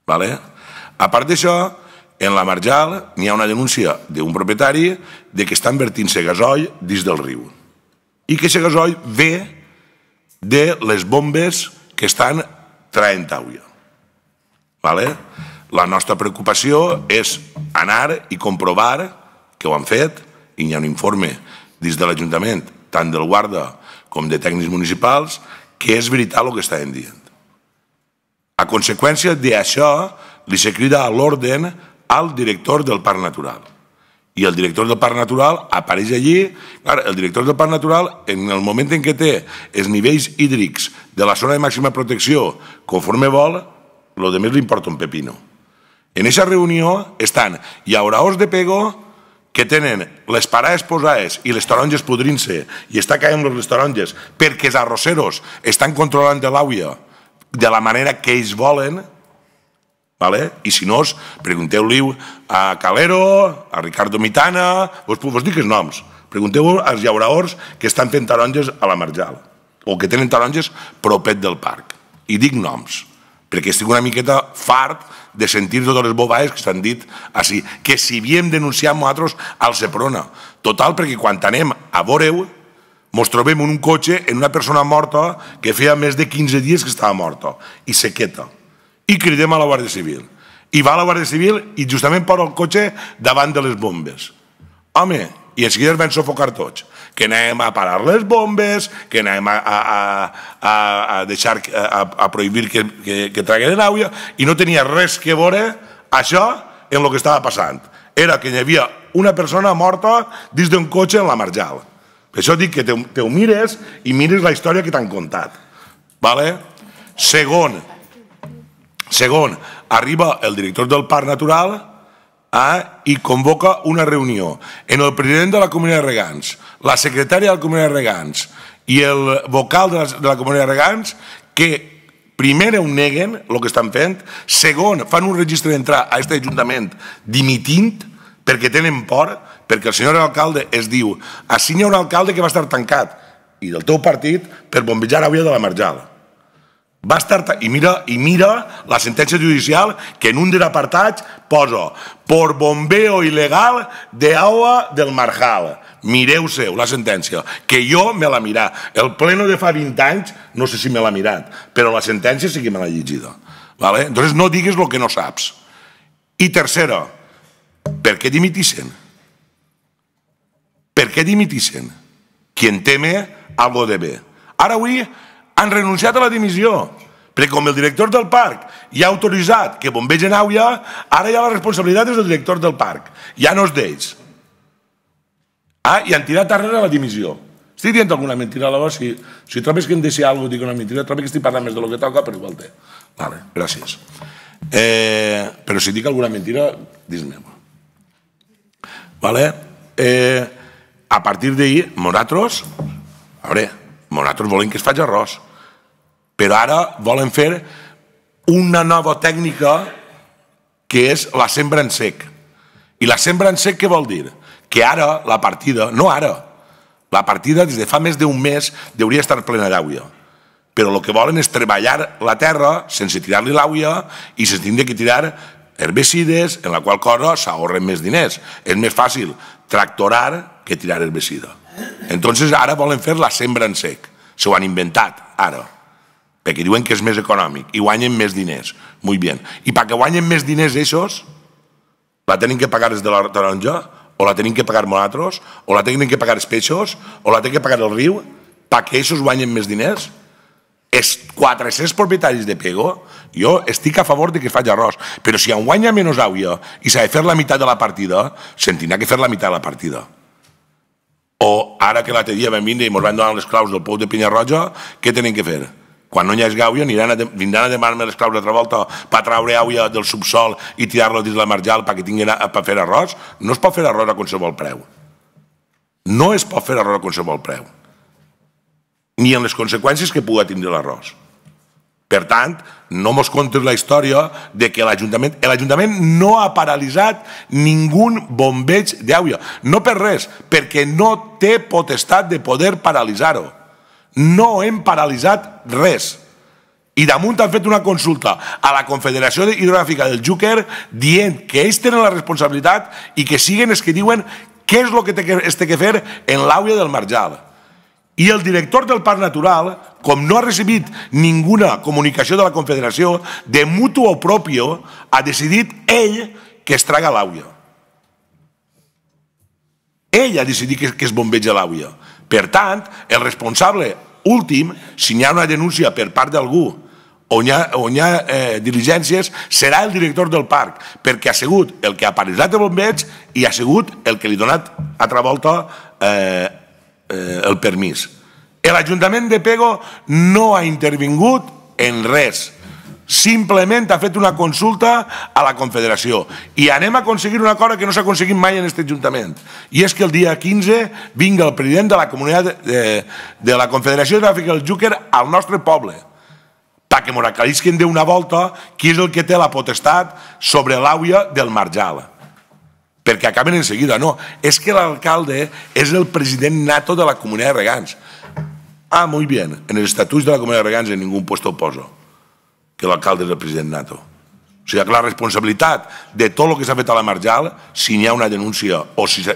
A part d'això, en la Marjal n'hi ha una denúncia d'un propietari que està invertint-se gasoil dins del riu i que aquest gasoil ve de les bombes que estan traient aigua. La nostra preocupació és anar i comprovar que ho han fet i hi ha un informe dins de l'Ajuntament, tant del guarda com de tècnics municipals, que és veritat el que estàvem dient. A conseqüència d'això, li se crida a l'ordre al director del Parc Natural I el director del Parc Natural apareix allí. El director del Parc Natural, en el moment en què té els nivells hídrics de la zona de màxima protecció conforme vol, el que més li importa un pepino. En aquesta reunió estan llauraors de pego que tenen les parades posades i les taronges podrint-se i està caient les taronges perquè els arrosseros estan controlant de l'àvia de la manera que ells volen, i si no, pregunteu-li a Calero, a Ricardo Mitana, vos dic els noms, pregunteu als llauraors que estan fent taronges a la Marjal o que tenen taronges propet del parc. I dic noms, perquè estic una miqueta fart de sentir totes les bobades que s'han dit així, que si havíem denunciat nosaltres al Seprona. Total, perquè quan anem a veure-ho, ens trobem en un cotxe en una persona morta que feia més de quinze dies que estava morta, i sequeta. I cridem a la Guàrdia Civil. I va a la Guàrdia Civil i justament posa el cotxe davant de les bombes. Home, i en seguida es van sufocar tots. Que anem a parar les bombes, que anem a deixar, a prohibir que traguen l'aigua, i no tenia res que veure això en el que estava passant. Era que hi havia una persona morta dins d'un cotxe en la Marjal. Per això dic que te ho mires i mires la història que t'han contat. Segon, Segon, arriba el director del Parc Natural i convoca una reunió en el president de la Comunitat de Regants, la secretària de la Comunitat de Regants i el vocal de la Comunitat de Regants, que primer ho neguen el que estan fent, segon, fan un registre d'entrar a aquest ajuntament dimitint perquè tenen por, perquè el senyor alcalde es diu així hi ha un alcalde que va estar tancat i del teu partit per bombejar aigua de la Marjal. Va estar, i mira, i mira la sentència judicial que en un dels apartats posa por bombeo ilegal de agua del Marjal. Mireu-se la sentència, que jo me l'ha mirat. El pleno de fa vint anys no sé si me l'ha mirat, però la sentència sí que me l'ha llegida. Entonces no digues el que no saps. I tercera, per què dimitissin? Per què dimitissin? Quien teme algo debe. Ara avui han renunciat a la dimissió, perquè com el director del parc ja ha autoritzat que bombegen aigua, ara ja la responsabilitat és del director del parc, ja no és d'ells. I han tirat darrere la dimissió. Estic dient alguna mentira, llavors, si trobes que em deixi alguna cosa, dic una mentira, trobo que estic parlant més del que toca, però igual té. Vale, gràcies. Però si dic alguna mentira, dis-me-ho. Vale? A partir d'ahir, nosaltres, a veure, nosaltres volem que es faci arròs, però ara volen fer una nova tècnica que és la sembra en sec. I la sembra en sec què vol dir? Que ara la partida, no ara, la partida des de fa més d'un mes hauria estar plena d'aigua. Però el que volen és treballar la terra sense tirar-li l'aigua i sense tindre que tirar herbicides, en la qual cosa s'ahorren més diners. És més fàcil tractorar que tirar herbicida. Entonces ara volen fer la sembra en sec. S'ho han inventat, ara. Perquè diuen que és més econòmic i guanyen més diners. Molt bé. I perquè guanyen més diners ells, la tenen que pagar des de la taronja, o la tenen que pagar nosaltres, o la tenen que pagar els peixos, o la tenen que pagar el riu, perquè ells guanyen més diners. Els quatre-cents propietaris de Pego, jo estic a favor que es faci arròs, però si en guanya menys aigua i s'ha de fer la meitat de la partida, se'n tindrà que fer la meitat de la partida. O ara que l'altre dia vam vindre i ens van donar les claus del pou de Penyarroja, què tenen que fer? Quan no hi hagi aigua, vindran a demanar-me les claus d'altra volta per traure aigua del subsol i tirar-la dins la Marjal perquè tinguin per fer arròs? No es pot fer arròs a qualsevol preu. No es pot fer arròs a qualsevol preu. Ni en les conseqüències que pugui tindre l'arròs. Per tant, no mos contes la història de que l'Ajuntament... L'Ajuntament no ha paralitzat ningú bombeig d'aigua. No per res, perquè no té potestat de poder paralitzar-ho. No hem paralitzat res. I damunt han fet una consulta a la Confederació Hidrogràfica del Xúquer dient que ells tenen la responsabilitat i que siguen els que diuen què és el que es té que fer en l'aigua del Marjal. I el director del Parc Natural, com no ha recibit ninguna comunicació de la Confederació, de mutu o propio, ha decidit ell que es traga l'aigua. Ell ha decidit que es bombeja l'aigua. Per tant, el responsable últim, si hi ha una denúncia per part d'algú on hi ha, on hi ha eh, diligències serà el director del parc, perquè ha sigut el que ha paralitzat el bombeig i ha sigut el que li ha donat altra volta eh, eh, el permís. L'Ajuntament de Pego no ha intervingut en res, simplement ha fet una consulta a la Confederació i anem a aconseguir una cosa que no s'ha aconseguit mai en aquest Ajuntament, i és que el dia quinze vinga el president de la comunitat de, de la Confederació Hidrogràfica del Xúquer al nostre poble perquè ens aclarisquen d'una volta qui és el que té la potestat sobre l'àuia del Marjal, perquè acaben en seguida. No, és que l'alcalde és el president nato de la comunitat de regants. Ah, muy bien, en els estatuts de la comunitat de regants en ningú puesto poso que l'alcalde és el president nato. O sigui que la responsabilitat de tot el que s'ha fet a la Marjal, si hi ha una denúncia o si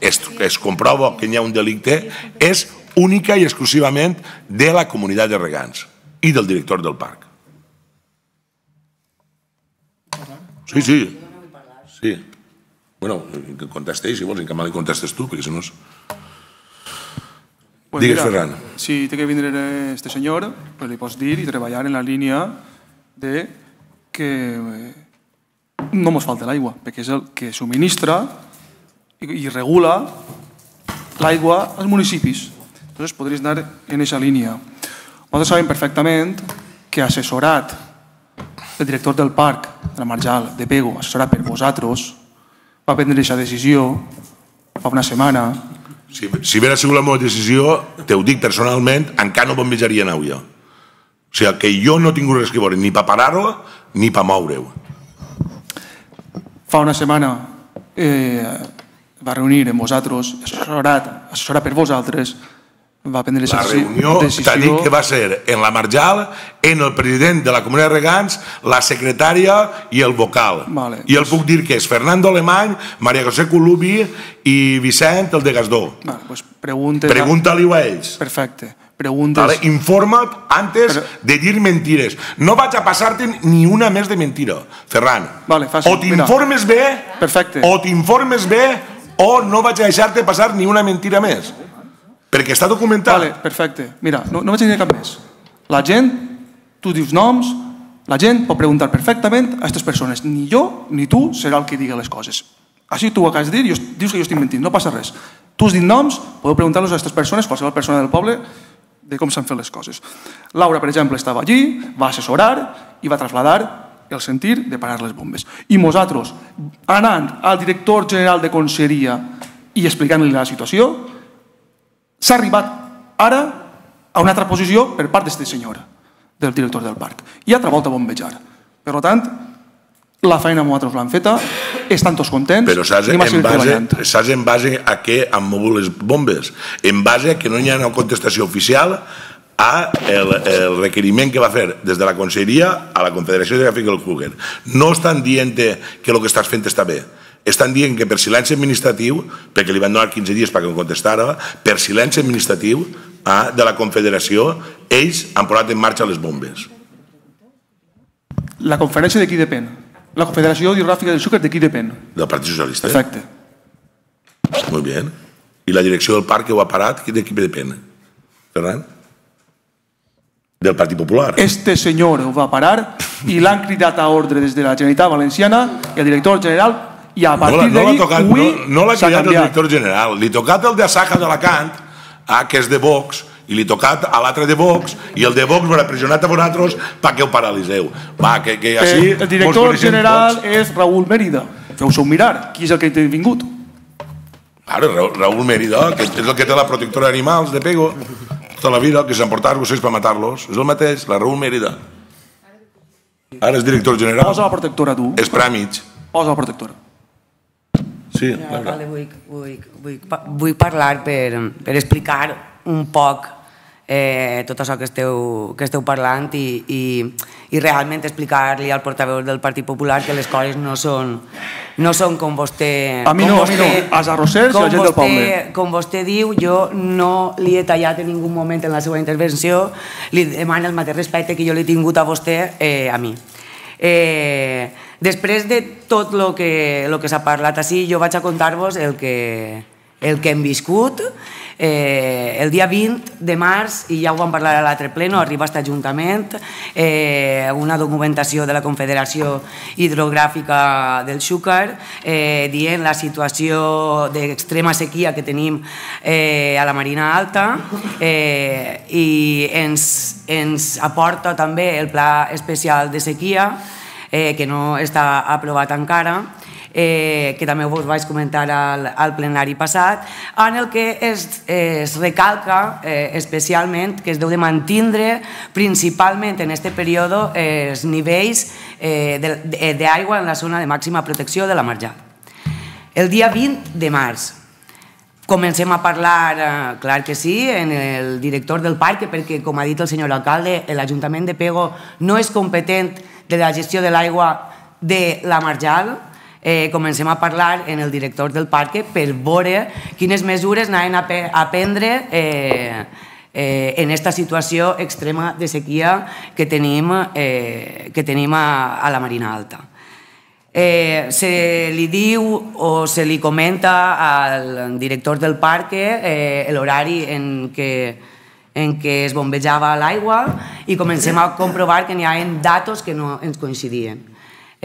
es comprova que hi ha un delicte, és única i exclusivament de la comunitat de regants i del director del parc. Sí, sí. Sí. Bueno, que contestéis, si vols, en que mal li contestes tu, perquè si no és... Pues Digues, mira, Ferran. Si té que vindre este senyor, pues li pots dir i treballar en la línia de que no ens falta l'aigua, perquè és el que subministra i, i regula l'aigua als municipis. Entonces podries anar en aquesta línia. Nosaltres sabem perfectament que assessorat el director del parc de la Marjal, de Pego, assessorat per vosaltres, va prendre aquesta decisió fa una setmana. Si, si hagués sigut la meva decisió, te ho dic personalment, encara no bombejaria en àuia. O sigui, que jo no he tingut res que veure ni per parar-ho ni per moure-ho. Fa una setmana eh, va reunir amb vosaltres, assessorat, assessorat per vosaltres, va prendre la decisió. reunió t'ha dit que va ser en la Marjal, en el president de la comunitat de regants, la secretària i el vocal. Vale, I el puc dir que és Fernando Alemany, María José Colubi i Vicent, el de Gasdó. Vale, pues preguntes... Pregunta-li-ho a ells. Perfecte. Preguntes... Vale, informa't antes Però... de dir mentires. No vaig a passar-te ni una més de mentira, Ferran. Vale, fàcil. O t'informes bé, Perfecte. o t'informes bé, o no vaig a deixar-te passar ni una mentira més. Perquè està documentat. Vale, perfecte. Mira, no, no vaig a dir cap més. La gent, tu dius noms, la gent pot preguntar perfectament a aquestes persones. Ni jo ni tu serà el que digui les coses. Així tu ho acabes de dir i dius que jo estic mentint, no passa res. Tu has dit noms, podeu preguntar-los a aquestes persones, qualsevol persona del poble, de com s'han fet les coses. Laura, per exemple, estava allí, va assessorar i va traslladar el sentir de parar les bombes. I nosaltres, anant al director general de Conselleria i explicant-li la situació, s'ha arribat ara a una altra posició per part d'aquesta senyora, del director del parc, i altra volta a bombejar. Per tant, la feina nosaltres l'han feta, estan tots contents, però saps en, base, saps en base a què han mogut les bombes? En base a que no hi ha una contestació oficial a el, el requeriment que va fer des de la Conselleria a la Confederació Hidrogràfica del Xúquer. No estan dient que el que estàs fent està bé. Estan dient que per silenci administratiu, perquè li van donar quinze dies perquè em contestara, per silenci administratiu de la Confederació, ells han posat en marxa les bombes. La conferència de qui depèn? La Confederació Hidrogràfica del Xúquer de qui depèn? Del Partit Socialista. Perfecte. Molt bé. I la direcció del parc que ho ha parat, de qui depèn? Ferran? Del Partit Popular. Este senyor ho va parar i l'han cridat a ordre des de la Generalitat Valenciana i el director general i a partir d'ahir no l'ha cridat el director general, li ha tocat el de Asaja d'Alacant, que és de Vox, i li ha tocat a l'altre de Vox, i el de Vox l'ha pressionat a vosaltres perquè ho paralitzeu. El director general és Raúl Mérida. Feu-se mirar, qui és el que ha vingut? Raúl Mérida, que és el que té la protectora d'animals de Pego, tota la vida, que s'han portat gossos per matar-los. És el mateix, la Raúl Mérida. Ara és director general. Posa la protectora, tu. És Pràmig. Posa la protectora. Sí, vull, vull, vull, vull parlar per, per explicar un poc eh, tot això que esteu, que esteu parlant i, i, i realment explicar-li al portaveu del Partit Popular que les coses no són, no són com vostè... A mi no, a mi no, als arrossers i a la gent del poble. Com vostè diu, jo no li he tallat en ningú moment en la seva intervenció, li demano el mateix respecte que jo l'he tingut a vostè eh, a mi. Eh, després de tot el que, que s'ha parlat així, jo vaig a contar-vos el que, el que hem viscut. Eh, el dia vint de març, i ja ho vam parlar a l'altre pleno, arriba a aquest Ajuntament eh, una documentació de la Confederació Hidrogràfica del Xúquer eh, dient la situació d'extrema sequia que tenim eh, a la Marina Alta eh, i ens, ens aporta també el Pla Especial de Sequia eh, que no està aprovat encara, Eh, que també us vaig comentar al, al plenari passat, en el que es, es recalca eh, especialment que es deu de mantindre principalment en aquest període els nivells eh, d'aigua en la zona de màxima protecció de la marjal. El dia vint de març comencem a parlar, eh, clar que sí, en el director del parc, perquè, com ha dit el senyor alcalde, l'Ajuntament de Pego no és competent de la gestió de l'aigua de la marjal. Eh, comencem a parlar en el director del parc per veure quines mesures anaven a, a prendre eh, eh, en aquesta situació extrema de sequia que tenim, eh, que tenim a, a la Marina Alta. Eh, se li diu o se li comenta al director del parc eh, l'horari en què en què es bombejava l'aigua i comencem a comprovar que n'hi ha datos que no ens coincidien.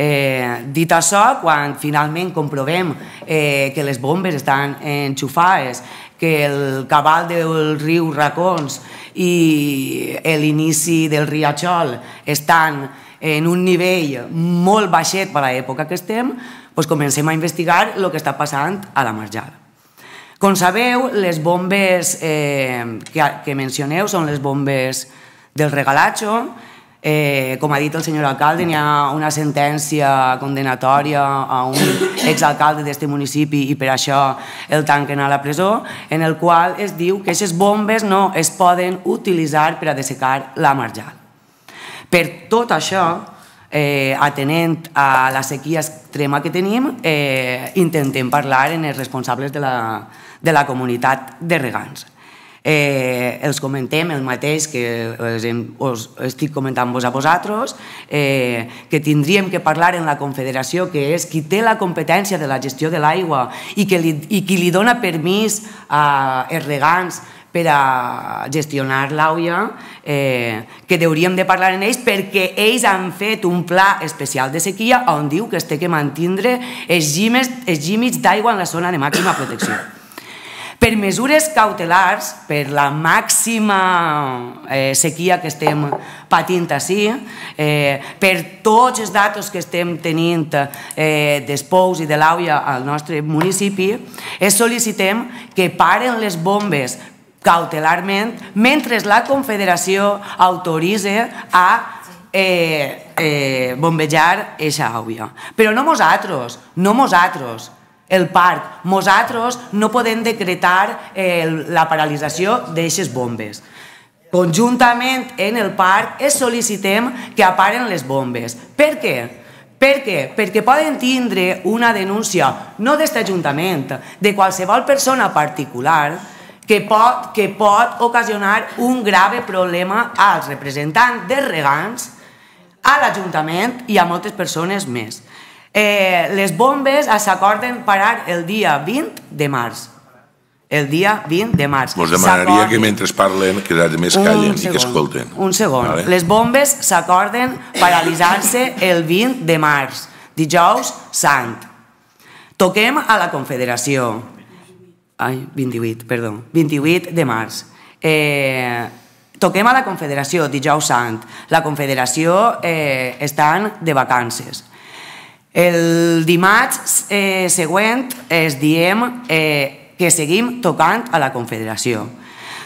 Eh, dit això, quan finalment comprovem eh, que les bombes estan enxufades, que el cabal del riu Racons i l'inici del riachol estan en un nivell molt baixet per a l'època que estem, doncs comencem a investigar el que està passant a la marjal. Com sabeu, les bombes eh, que, que mencioneu són les bombes del Regalatxo. Eh, com ha dit el senyor alcalde, n'hi ha una sentència condenatòria a un exalcalde d'aquest municipi i per això el tanquen a la presó, en el qual es diu que aquestes bombes no es poden utilitzar per a dessecar la marjal. Per tot això, eh, atenent a la sequia extrema que tenim, eh, intentem parlar amb els responsables de la, de la comunitat de regants. Eh, els comentem el mateix que us estic comentant-vos a vosaltres, eh, que tindríem que parlar en la Confederació, que és qui té la competència de la gestió de l'aigua i, que li, i qui li dona permís als regants per a gestionar l'aigua, eh, que hauríem de parlar amb ells perquè ells han fet un pla especial de sequia on diu que es té que mantindre els límits d'aigua en la zona de màxima protecció. Per mesures cautelars, per la màxima eh, sequia que estem patint ací, eh, per tots els datos que estem tenint eh, dels pous i de l'aigua al nostre municipi, es sol·licitem que paren les bombes cautelarment mentre la Confederació autoritza a eh, eh, bombejar aquesta aigua. Però no nosaltres, no nosaltres. El parc. Nosaltres no podem decretar eh, la paralització d'aquestes bombes. Conjuntament en el parc es sol·licitem que aparen les bombes. Per què? Per què? Perquè poden tindre una denúncia, no d'aquest Ajuntament, de qualsevol persona particular que pot, que pot ocasionar un grave problema als representants dels regants, a l'Ajuntament i a moltes persones més. Eh, les bombes s'acorden parar el dia vint de març. El dia vint de març. Us demanaria que mentre parlen que els més callen i que escolten. Un segon. Vale. Les bombes s'acorden paralitzar-se el vint de març, dijous sant. Toquem a la Confederació. Ai, vint-i-vuit, perdó. vint-i-vuit de març. Eh, toquem a la Confederació, dijous sant. La Confederació eh, estan de vacances. El dimarts eh, següent es diem eh, que seguim tocant a la Confederació.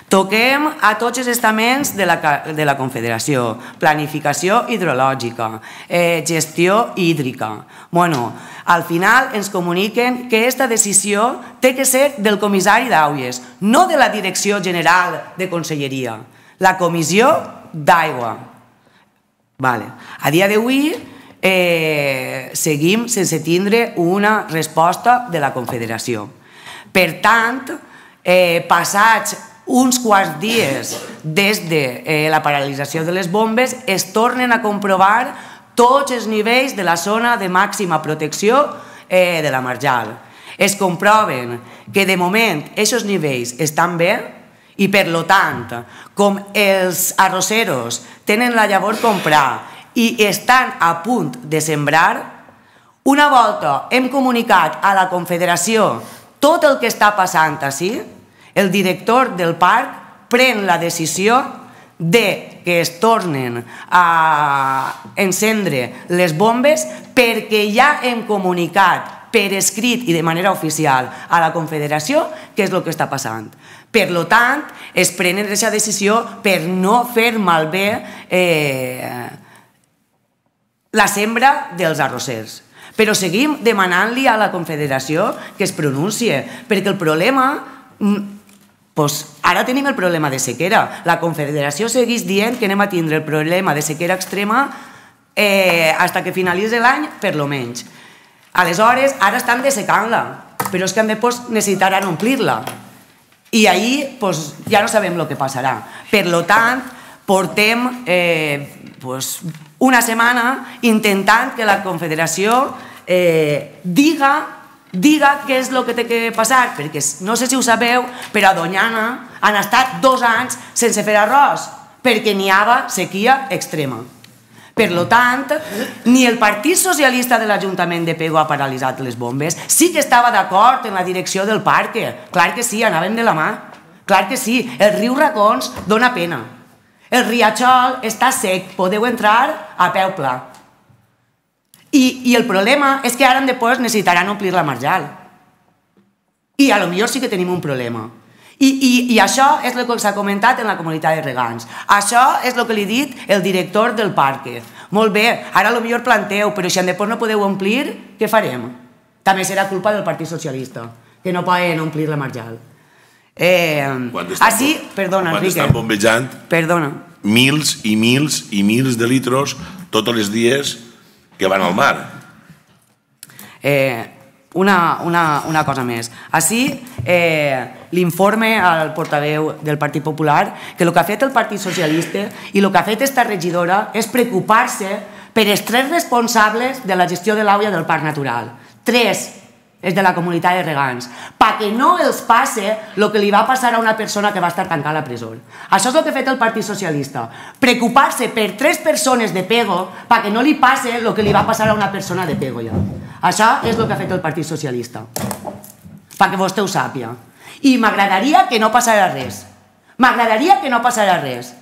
Toquem a tots els estaments de la, de la Confederació, planificació hidrològica, eh, gestió hídrica. Bueno, al final ens comuniquen que aquesta decisió té que ser del comissari d'aigües, no de la Direcció General de Conselleria, la Comissió d'Aigua. Vale. A dia d'avui eh, seguim sense tindre una resposta de la Confederació. Per tant, eh, passats uns quants dies des de eh, la paralització de les bombes, es tornen a comprovar tots els nivells de la zona de màxima protecció eh, de la marjal. es comproven que de moment aquests nivells estan bé i per tant, com els arrosseros tenen la llavor comprar i estan a punt de sembrar, una volta hem comunicat a la Confederació tot el que està passant així, el director del parc pren la decisió de que es tornen a encendre les bombes perquè ja hem comunicat per escrit i de manera oficial a la Confederació què és el que està passant. Per tant, es prenen aquesta decisió per no fer malbé la sembra dels arrossers. Però seguim demanant-li a la Confederació que es pronuncie, perquè el problema... Ara tenim el problema de sequera. La Confederació segueix dient que anem a tindre el problema de sequera extrema fins que finalitzi l'any, per lo menys. Aleshores, ara estan dessecant-la, però és que necessitaran omplir-la. I ahir ja no sabem el que passarà. Per tant, portem una setmana intentant que la Confederació diga diga què és el que té que passar, perquè no sé si ho sabeu, però a Doñana han estat dos anys sense fer arròs, perquè n'hi havia sequia extrema. Per tant, ni el Partit Socialista de l'Ajuntament de Pego ha paralitzat les bombes, sí que estava d'acord en la direcció del parc, clar que sí, anaven de la mà, clar que sí, el riu Racons dona pena, el riachol està sec, podeu entrar a peu pla. I el problema és que ara després necessitaran omplir la marjal. I potser sí que tenim un problema. I això és el que s'ha comentat en la comunitat de regants. Això és el que li ha dit el director del parc. Molt bé, ara potser planteu, però si després no podeu omplir, què farem? També serà culpa del Partit Socialista, que no poden omplir la marjal. Així, perdona, Enrique. Quan estan bombejant mils i mils i mils de litros tots els dies que van al mar. Una cosa més. Així, l'informe al portaveu del Partit Popular que el que ha fet el Partit Socialista i el que ha fet aquesta regidora és preocupar-se per els tres responsables de la gestió de l'aigua del Parc Natural. Tres és de la comunitat de regants, perquè no els passe el que li va passar a una persona que va estar tancada a la presó. Això és el que ha fet el Partit Socialista, preocupar-se per tres persones de Pego perquè no li passe el que li va passar a una persona de Pego ja. Això és el que ha fet el Partit Socialista, perquè vostè ho sàpiga. I m'agradaria que no passara res, m'agradaria que no passara res.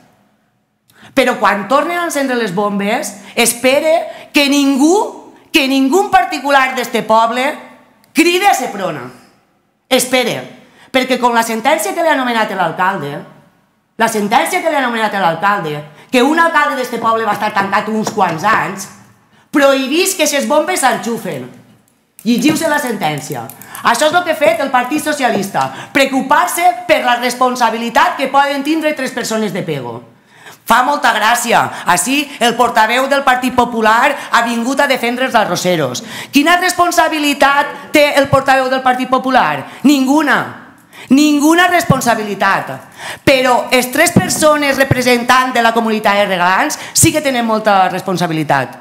Però quan tornen a encendre les bombes, espere que ningú, que ningú particular d'este poble crida a Seprona. Espere, perquè com la sentència que li ha anomenat l'alcalde, la sentència que li ha anomenat l'alcalde, que un alcalde d'este poble va estar tancat uns quants anys, prohibís que aquestes bombes s'enxufen. Llegiu-se la sentència. Això és el que ha fet el Partit Socialista, preocupar-se per la responsabilitat que poden tindre tres persones de Pego. Fa molta gràcia. Així, el portaveu del Partit Popular ha vingut a defendre els arrosseros. Quina responsabilitat té el portaveu del Partit Popular? Ninguna. Ninguna responsabilitat. Però les tres persones representants de la comunitat de regants sí que tenen molta responsabilitat.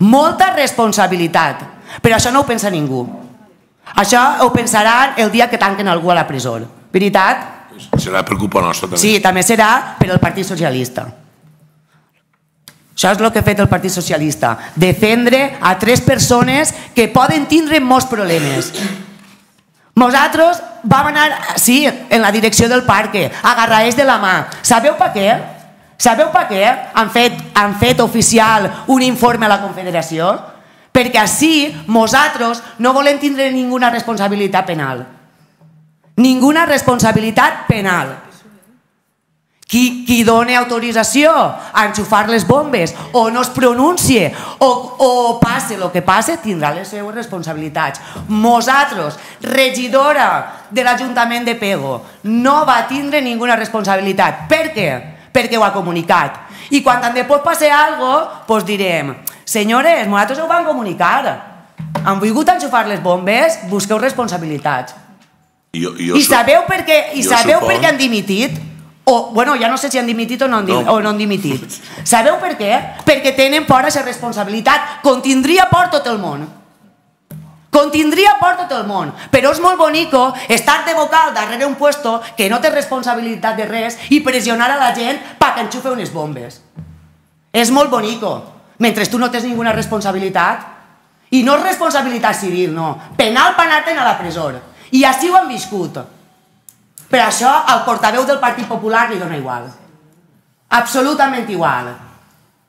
Molta responsabilitat. Però això no ho pensa ningú. Això ho pensaran el dia que tanquen algú a la presó. Veritat? Serà preocupa nostra també. Sí, també serà per al Partit Socialista. Això és el que ha fet el Partit Socialista, defendre a tres persones que poden tindre molts problemes. Nosaltres vam anar, sí, en la direcció del parc, agarrats de la mà. Sabeu per què? Sabeu per què han fet, han fet oficial un informe a la Confederació? Perquè així nosaltres no volem tindre ninguna responsabilitat penal. Ninguna responsabilitat penal. Qui doni autorització a enxufar les bombes o no es pronuncie o passe el que passe tindrà les seues responsabilitats. Nosaltres, regidora de l'Ajuntament de Pego, no va tindre ninguna responsabilitat. Per què? Perquè ho ha comunicat. I quan després passi alguna cosa, direm, senyores, nosaltres ho vam comunicar. Han volgut enxufar les bombes, busqueu responsabilitats. I sabeu per què han dimitit? O, bueno, ja no sé si han dimitit o no han dimitit. Sabeu per què? Perquè tenen por a ser responsabilitat, com tindria por tot el món. Contindria por tot el món, però és molt bonico estar de vocal darrere un puesto que no té responsabilitat de res i pressionar a la gent perquè enxufe unes bombes. És molt bonico, mentre tu no tens ninguna responsabilitat. I no és responsabilitat civil, no. Penal per anar-te'n a la presó. I així ho han viscut. Per això al portaveu del Partit Popular li dona igual. Absolutament igual.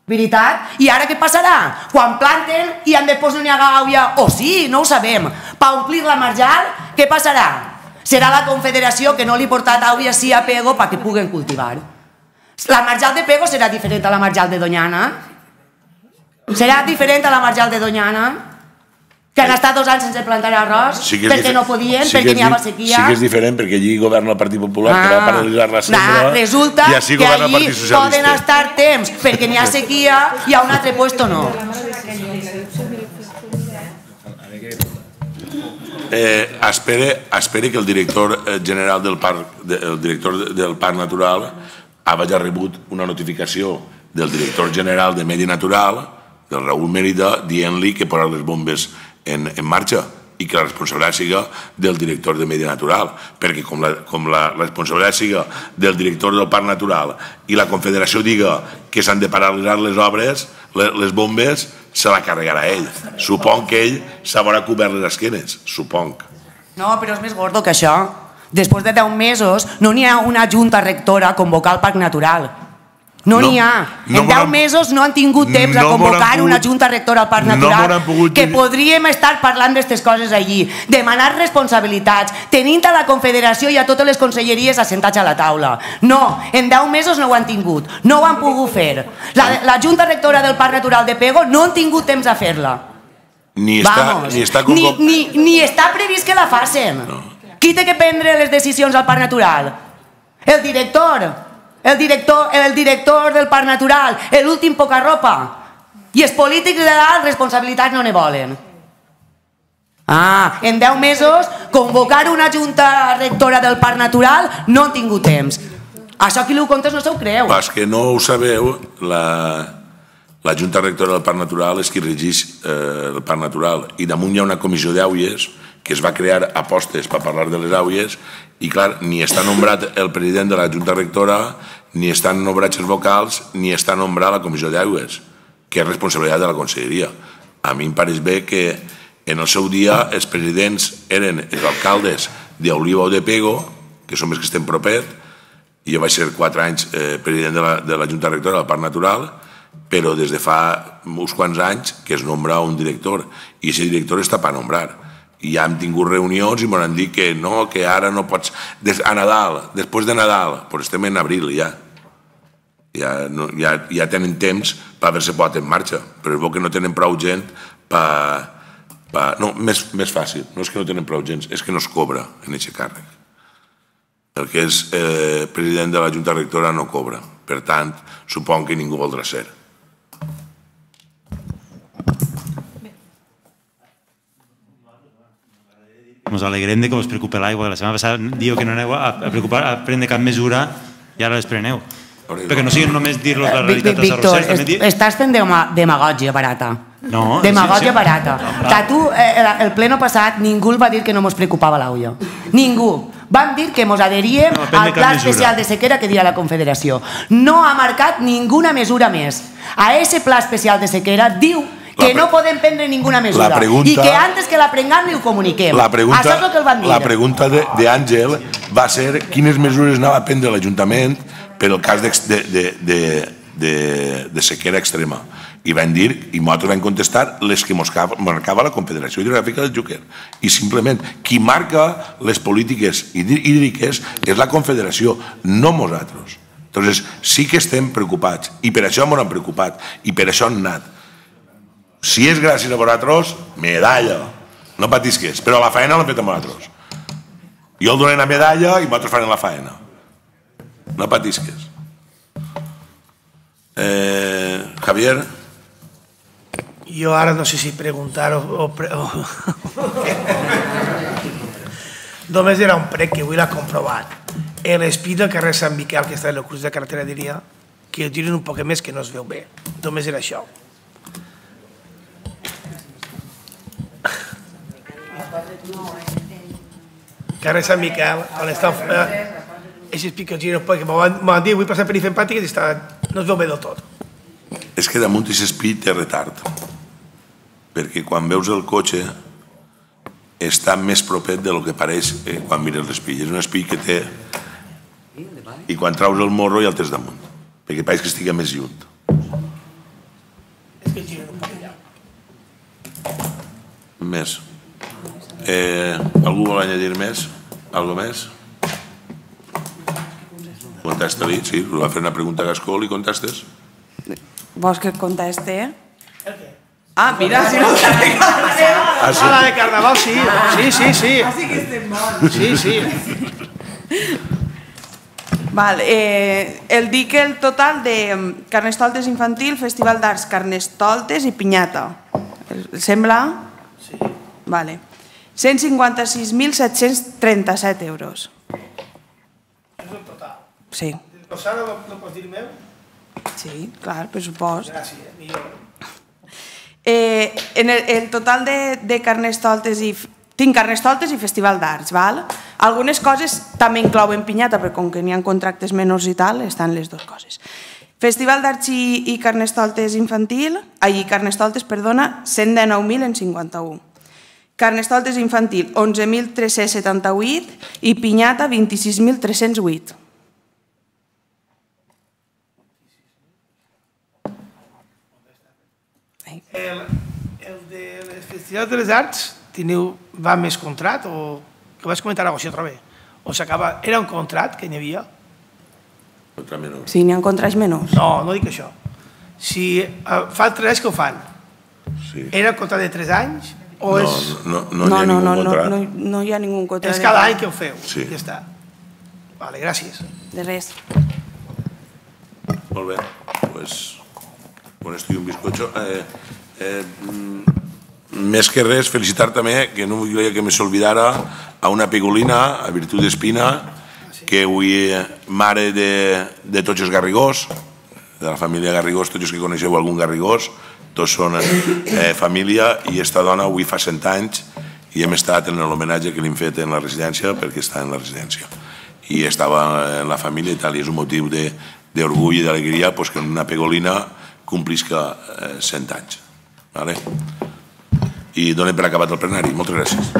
Veritat? I ara què passarà? Quan planten i han de posar una gàbia, o sí, no ho sabem, per omplir la marjal, què passarà? Serà la Confederació que no li portat àvia sí a Pego perquè puguen cultivar. La marjal de Pego serà diferent a la marjal de Doñana? Serà diferent a la marjal de Doñana? Que han estat dos anys sense plantar arròs perquè no podien, perquè n'hi havia sequia. Sí que és diferent, perquè allí governa el Partit Popular, que va paralitzar la sembra, resulta que allí poden estar temps perquè n'hi ha sequia i a un altre puesto no. Espere que el director general del Parc Natural hagi rebut una notificació del director general de Medi Natural, del Raúl Mérida, dient-li que posar les bombes en marxa i que la responsabilitat siga del director de Medi Natural, perquè com la responsabilitat siga del director del Parc Natural i la Confederació diga que s'han de paralitzar les obres, les bombes, se la carregarà ell. Supong que ell s'haurà cobert les esquenes, supong. No, però és més gordo que això. Després de deu mesos no n'hi ha una junta rectora a convocar el Parc Natural. No n'hi ha. En deu mesos no han tingut temps a convocar una junta rectora al Parc Natural, que podríem estar parlant d'aquestes coses allí, demanar responsabilitats, tenint a la Confederació i a totes les conselleries assentats a la taula. No, en deu mesos no ho han tingut, no ho han pogut fer. La junta rectora del Parc Natural de Pego no han tingut temps a fer-la. Ni està Ni està previst que la facin. Qui té que prendre les decisions al Parc Natural? El director. El director del Parc Natural, l'últim poca ropa. I els polítics de dalt responsabilitats no ne volen. Ah, en deu mesos convocar una junta rectora del Parc Natural no han tingut temps. Això qui ho contes no s'ho creu. És que no ho sabeu, la junta rectora del Parc Natural és qui regeix el Parc Natural i damunt hi ha una comissió d'àuies que es va crear apostes per parlar de les àuies i clar, ni està nombrat el president de la junta rectora, ni estan nombrats els vocals, ni està nombrat la comissió d'àuies, que és responsabilitat de la conselleria. A mi em pareix bé que en el seu dia els presidents eren els alcaldes d'Oliva o de Pego, que som els que estem propet, i jo vaig ser quatre anys president de la junta rectora del Parc Natural, però des de fa uns quants anys que es nombra un director, i aquest director està per nombrar. I ja hem tingut reunions i m'han dit que no, que ara no pots... A Nadal, després de Nadal, però estem en abril ja. Ja tenen temps per haver-se posat en marxa, però és bo que no tenen prou gent per... No, més fàcil, no és que no tenen prou gent, és que no es cobra en aquest càrrec. El que és president de la junta rectora no cobra, per tant, supon que ningú voldrà ser. Ens alegrem que us preocupi l'aigua. La setmana passada diu que no aneu a prendre cap mesura i ara les preneu. Perquè no sigui només dir-los la realitat als arrossers. Víctor, estàs fent demagògia barata. No. Demagògia barata. Que tu, el pleno passat, ningú va dir que no ens preocupava l'aigua. Ningú. Vam dir que ens adheríem al pla especial de sequera que dirà la Confederació. No ha marcat ninguna mesura més. A aquest pla especial de sequera diu que no podem prendre ninguna mesura i que antes que la prengam li ho comuniquem. Això és el que el van dir. La pregunta d'Àngel va ser quines mesures anava a prendre l'Ajuntament per el cas de sequera extrema. I van dir, i nosaltres vam contestar, les que marcava la Confederació Hidrogràfica del Xúquer. I simplement, qui marca les polítiques hídriques és la Confederació, no nosaltres. Llavors, sí que estem preocupats, i per això ens hem preocupat, i per això hem anat. Si és gràcies a vosaltres, medalla. No patisques, però la faena l'hem fet a vosaltres. Jo el donem la medalla i vosaltres farem la faena. No patisques. Javier? Jo ara no sé si preguntar o... Només era un prec que avui l'ha comprovat. L'espí del carrer Sant Miquel, que està en el curs de carretera, diria que tiren un poc més que no es veu bé. Només era això. Carrer Sant Miquel, on està... Aquests picotxins, perquè m'han dit, vull passar per fer empàtiques i no es veu bé del tot. És que damunt aquest espi té retard, perquè quan veus el cotxe està més propet del que pareix quan mires l'espi. És un espi que té... I quan traus el morro ja el tens damunt, perquè pareix que estigui més lluny. És que gira un poc allà. Més. Algú vol añadir més? Algo més? Contesta-li, sí, va fer una pregunta a Gascó, li contestes? Vols que et conteste? El què? Ah, mira, si no està de carnaval. Ah, la de carnaval, sí. Sí, sí, sí. Així que estem bons. Sí, sí. Val, eh, el dic el total de Carnestoltes infantil, Festival d'Arts, Carnestoltes i Pinyata. Sembla? Sí. Vale. cent cinquanta-sis mil set-cents trenta-set euros. És el total. Sí. El Sara no pots dir meu? Sí, clar, pressupost. Gràcies, millor. Eh, en el, el total de, de Carnestoltes i... Tinc Carnestoltes i Festival d'Arts, val? Algunes coses també inclouen pinyata, però com que n'hi ha contractes menors i tal, estan les dues coses. Festival d'Arts i, i Carnestoltes infantil, ai, Carnestoltes, perdona, cent dinou mil en cinquanta-u. Carnestoltes infantil, onze mil tres-cents setanta-vuit i pinyata, vint-i-sis mil tres-cents vuit. El, el de les festivals de les arts teniu, va més contrat o que vas comentar alguna cosa altra vegada? O s'acaba... Era un contrat que n'hi havia? Contra menor. Sí, n'hi ha contrats menors. No, no dic això. Si uh, fa tres anys que ho fan, Sí. era un contrat de tres anys o No, és... no, no, no hi ha no, ningú no, no, contrat. no, no hi ha ningú contrat. És cada any que ho feu. Sí. Ja està. Vale, gràcies. De res. Molt bé, pues con esto y un bizcocho. Eh, eh, mm, més que res, felicitar també, que no volia que me s'olvidara, a una pigolina, a Virtut d'Espina, que avui mare de, de tots els Garrigós, de la família Garrigós, tots els que coneixeu algun Garrigós, tots són eh, família, i esta dona avui fa cent anys i hem estat en l'homenatge que li hem fet en la residència perquè està en la residència. I estava en la família i tal, i és un motiu d'orgull i d'alegria pues, que una pegolina complisca eh, cent anys. Vale? I donem per acabat el plenari. Moltes gràcies.